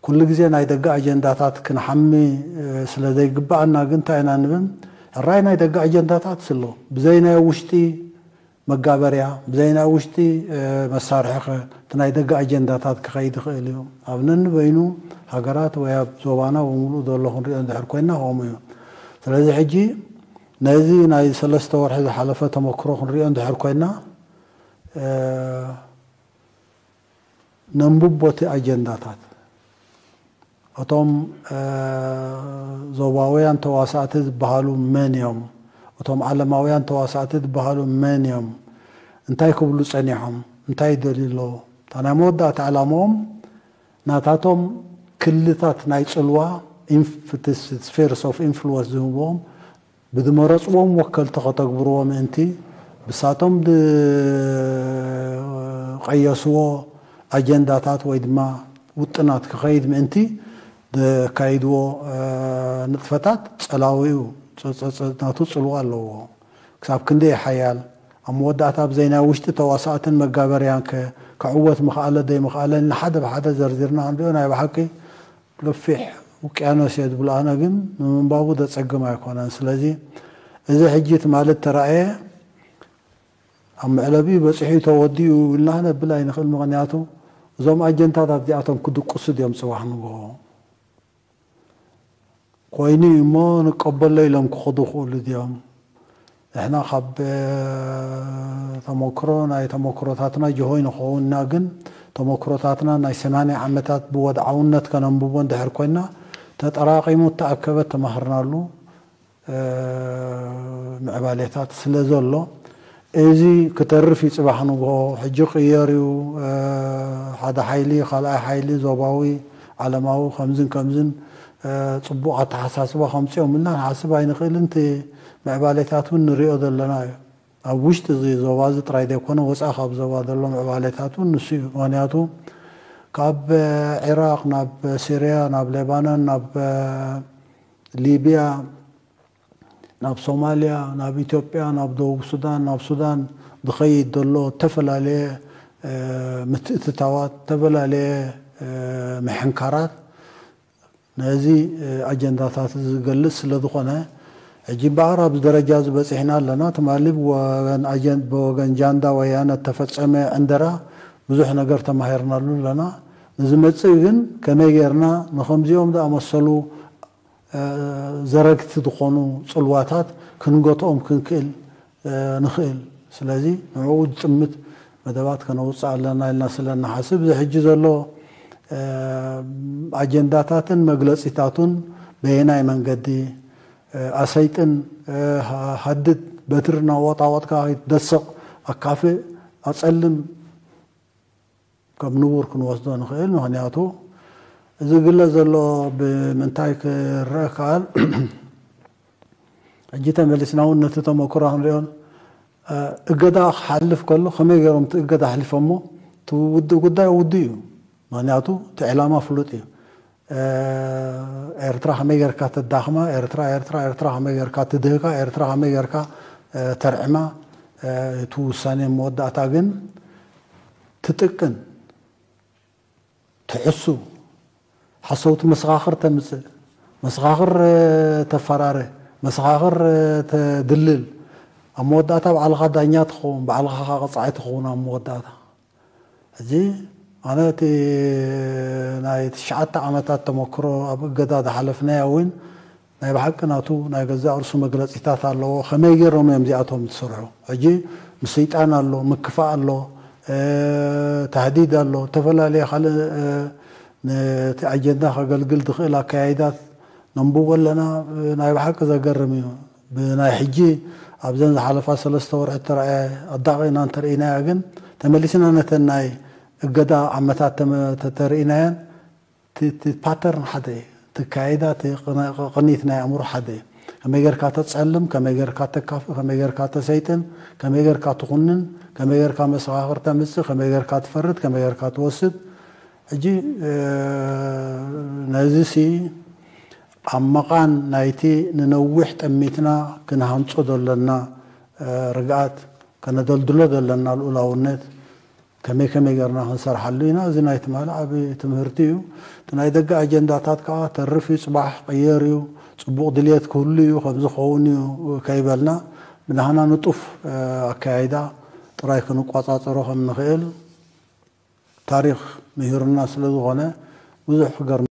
ኩሉ ግዜ ናይ ደገ ኣጀንዳታት ክንሓሚ ስለ ዘይግብኣና ግን እንታይ ኢና ንብል? ሕራይ ናይ ደገ ኣጀንዳታት ስሎ፣ ብዘይ ናይ ውሽጢ መጋበርያ፣ ብዘይ ናይ ውሽጢ መሳርሒ ኸ እቲ ናይ ደገ ኣጀንዳታት ክኸይድ ይኽእል እዩ። ኣብ ነንበይኑ ሃገራት ወይ ኣብ ዞባና ብምሉኡ ዘሎ ክንሪኦ እንድሕር ኮይና ከምኡ እዩ። ስለዚ ሕጂ ነዚ ናይ ሰለስተ ወርሒ ዝሓለፈ ተመክሮ ክንሪኦ እንድሕር ኮይና፣ ነንብቦ እቲ ኣጀንዳታት፣ እቶም ዞባውያን ተዋሳእቲ ዝበሃሉ መን እዮም? እቶም ዓለማውያን ተዋሳእቲ ዝበሃሉ መን እዮም? እንታይ ክብሉ ጸኒሖም? እንታይ ይደልዩ ኣለዉ? እታ ናይ መወዳእታ ዕላማኦም ናታቶም ክልታት ናይ ጽልዋ ስፌርስ ኦፍ ኢንፍሉወንስ ዝህብዎም ብዝመረፅዎም ወከልቲ ከተግብርዎ ምእንቲ ብሳቶም ዝቀየስዎ ኣጀንዳታት ወይ ድማ ውጥናት ክኸይድ ምእንቲ ዘካይድዎ ንጥፈታት ጸላዊኡ ናቱ ጽልዋ ኣለዎ። ክሳብ ክንደይ ሓያል ኣብ መወዳእታ ብዘይ ናይ ውሽጢ ተዋሳእትን መጋበርያን ከ ክዕወት ምኽኣለ ዘይምኽኣለ ንሓደ ብሓደ ዘርዚርና ክንሪኦ ናይ ብሓቂ ገፊሕ ውቅያኖስ እየ ዝብሎ ኣነ ግን ንምንባቡ ዘጸግም ኣይኮነን። ስለዚ እዚ ሕጂ ትማሊ እተራእየ ኣብ መዕለቢኡ በጺሑ ተወዲኡ ኢልና ክነብል ኣይንኽእል። ምኽንያቱ እዞም ኣጀንዳታት እዚኣቶም ክድቅሱ ድዮም ጽባሕ ንግሆ ኮይኑ እዩ እሞ ንቀበሎ ኢሎም ክኸዱ ክኽእሉ ድዮም? ንሕና ካብ ተመክሮ ናይ ተመክሮታትና ጅሆ ይንኸውንና ግን ተመክሮታትና ናይ ሰማንያ ዓመታት ብወድዓውነት ከነንብቦ እንድሕር ኮይና ተጠራቂሙ እተኣከበ ተማህርናሉ ምዕባሌታት ስለ ዘሎ እዚ ክተርፍ እዩ። ጽባሕ ንግሆ ሕጂ ቅየር እዩ። ሓደ ሓይሊ ካልኣይ ሓይሊ ዞባዊ ዓለማዊ ከምዝን ከምዝን ጽቡቕ ኣተሓሳስባ ከምጽኦም እና ንሓስብ ኣይንኽእልን። እቲ ምዕባሌታት እውን ንሪኦ ዘለና እዩ። ኣብ ውሽጢ እዚ ዞባ እዚ ጥራይ ዘይኮነ ወፃኢ ካብ ዞባ ዘሎ ምዕባሌታት እውን ንሱ እዩ። ምክንያቱ ካብ ዒራቅ ናብ ሲርያ ናብ ሌባኖን ናብ ሊብያ ናብ ሶማልያ ናብ ኢትዮጵያ ናብ ደቡብ ሱዳን ናብ ሱዳን ዝኸይድ ዘሎ ዝተፈላለየ ምትእትታዋት ዝተፈላለየ ምሕንካራት ነዚ ኣጀንዳታት ዝገልጽ ስለ ዝኾነ ሕጂ እምበኣር ኣብዚ ደረጃ ዝበፂሕና ኣለና። ትማሊ ብወገን ጃንዳ ወያነ እተፈፀመ ዕንደራ ብዙሕ ነገር ተማሂርናሉ ኣለና። ንዝመፅእ ግን ከመይ ጌርና ንከምዚኦም ዝኣመሰሉ ዘረግቲ ዝኾኑ ፅልዋታት ክንገትኦም ክንክእል ንኽእል። ስለዚ ንዕኡ ዝጥምት መደባት ከነውፅእ ኣለና ኢልና ስለ እንሓስብ እዚ ሕጂ ዘሎ ኣጀንዳታትን መግለፂታቱን በየናይ መንገዲ ኣሰይጥን ሃድድ በትሪ እናወጣወጥካ ከይትደስቕ ኣካፍእ ኣፀልም ከም ንቡር ክንወስዶ ንኽእል። ምክንያቱ እዚ ግለ ዘሎ ብምንታይ ክረአ ከኣል ሕጂ ተመሊስና እውን ነቲ ተመክሮ ክንሪኦን እገዳ ክሓልፍ ከሎ ከመይ ገይሮም እቲ እገዳ ኣሕሊፎሞ እቲ ውድእ ጉዳይ ውድእ እዩ። ምክንያቱ እቲ ዕላማ ፍሉጥ እዩ። ኤርትራ ከመይ ጌርካ ተዳኽማ ኤርትራ ኤርትራ ኤርትራ ከመይ ጌርካ ትድህካ ኤርትራ ከመይ ጌርካ ተርዕማ እቲ ውሳኔ መወዳእታ ግን ትጥቅን ትሕሱ ሓሰውቲ መሰኻኽር ተምፅእ መሰኻኽር ተፈራረ መሰኻኽር ተድልል ኣብ መወዳእታ ባዕልኻ ዳኛ ትኸውን ባዕልኻ ኸዓ ቀፃዒ ትኸውን ኣብ መወዳእታ ሕዚ ኣነ እቲ ናይ ትሽዓተ ዓመታት ተመክሮ ኣብ እገዳ ዝሓለፍናዮ እውን ናይ ብሓቂ ናቱ ናይ ገዛእ ርእሱ መግለፂታት ኣለዎ። ከመይ ገይሮም እዮም እዚኣቶም ዝሰርሑ? ሕጂ ምስይጣን ኣሎ፣ ምክፋእ ኣሎ፣ ታህዲድ ኣሎ፣ ዝተፈላለየ ካልእ ነቲ ኣጀንዳ ከገልግል ዝኽእል ኣካያይዳት ነንብቦ ኣለና። ናይ ብሓቂ ዘገርም እዩ። ብናይ ሕጂ ኣብዘን ዝሓለፋ ሰለስተ ወርሒ እተረኣየ ኣዳቒና እንተርኢናያ ግን ተመሊስና ነተን ናይ እገዳ ዓመታት ተመ- ተተርኢናየን እቲ- እቲ ፓተርን ሓደ እዩ። እቲ ኣካያይዳ እቲ ቅነ- ቅኒት ናይ ኣእምሮ ሓደ እዩ። ከመይ ጌርካ ተጸልም፣ ከመይ ጌርካ ተካፍእ፣ ከመይ ጌርካ ተሰይጥን፣ ከመይ ጌርካ ትኹንን፣ ከመይ ጌርካ መሰኻኽር ተምጽእ፣ ከመይ ጌርካ ትፈርድ፣ ከመይ ጌርካ ትወስድ። ሕጂ ነዚ ሲ ኣብ መቓን ናይቲ ንነዊሕ ጠሚትና ክንሃንጾ ዘለና ርግኣት ከነደልድሎ ዘለና ልኡላውነት ከመይ ከመይ ገርና ክንሰርሓሉ ኢና። እዚ ናይ ትማሊ ዓቢ ትምህርቲ እዩ። እቲ ናይ ደገ ኣጀንዳታት ከዓ ተርፍ እዩ፣ ፅባሕ ቅየር እዩ፣ ፅቡቕ ድልየት ክህሉ እዩ፣ ከምዚ ክኸውን እዩ ከይበልና ብናህና ንጡፍ ኣካያይዳ ጥራይ ክንቋፃፀሮ ከም ንኽእል ታሪኽ ምሂሩና ስለ ዝኾነ ብዙሕ ክገርም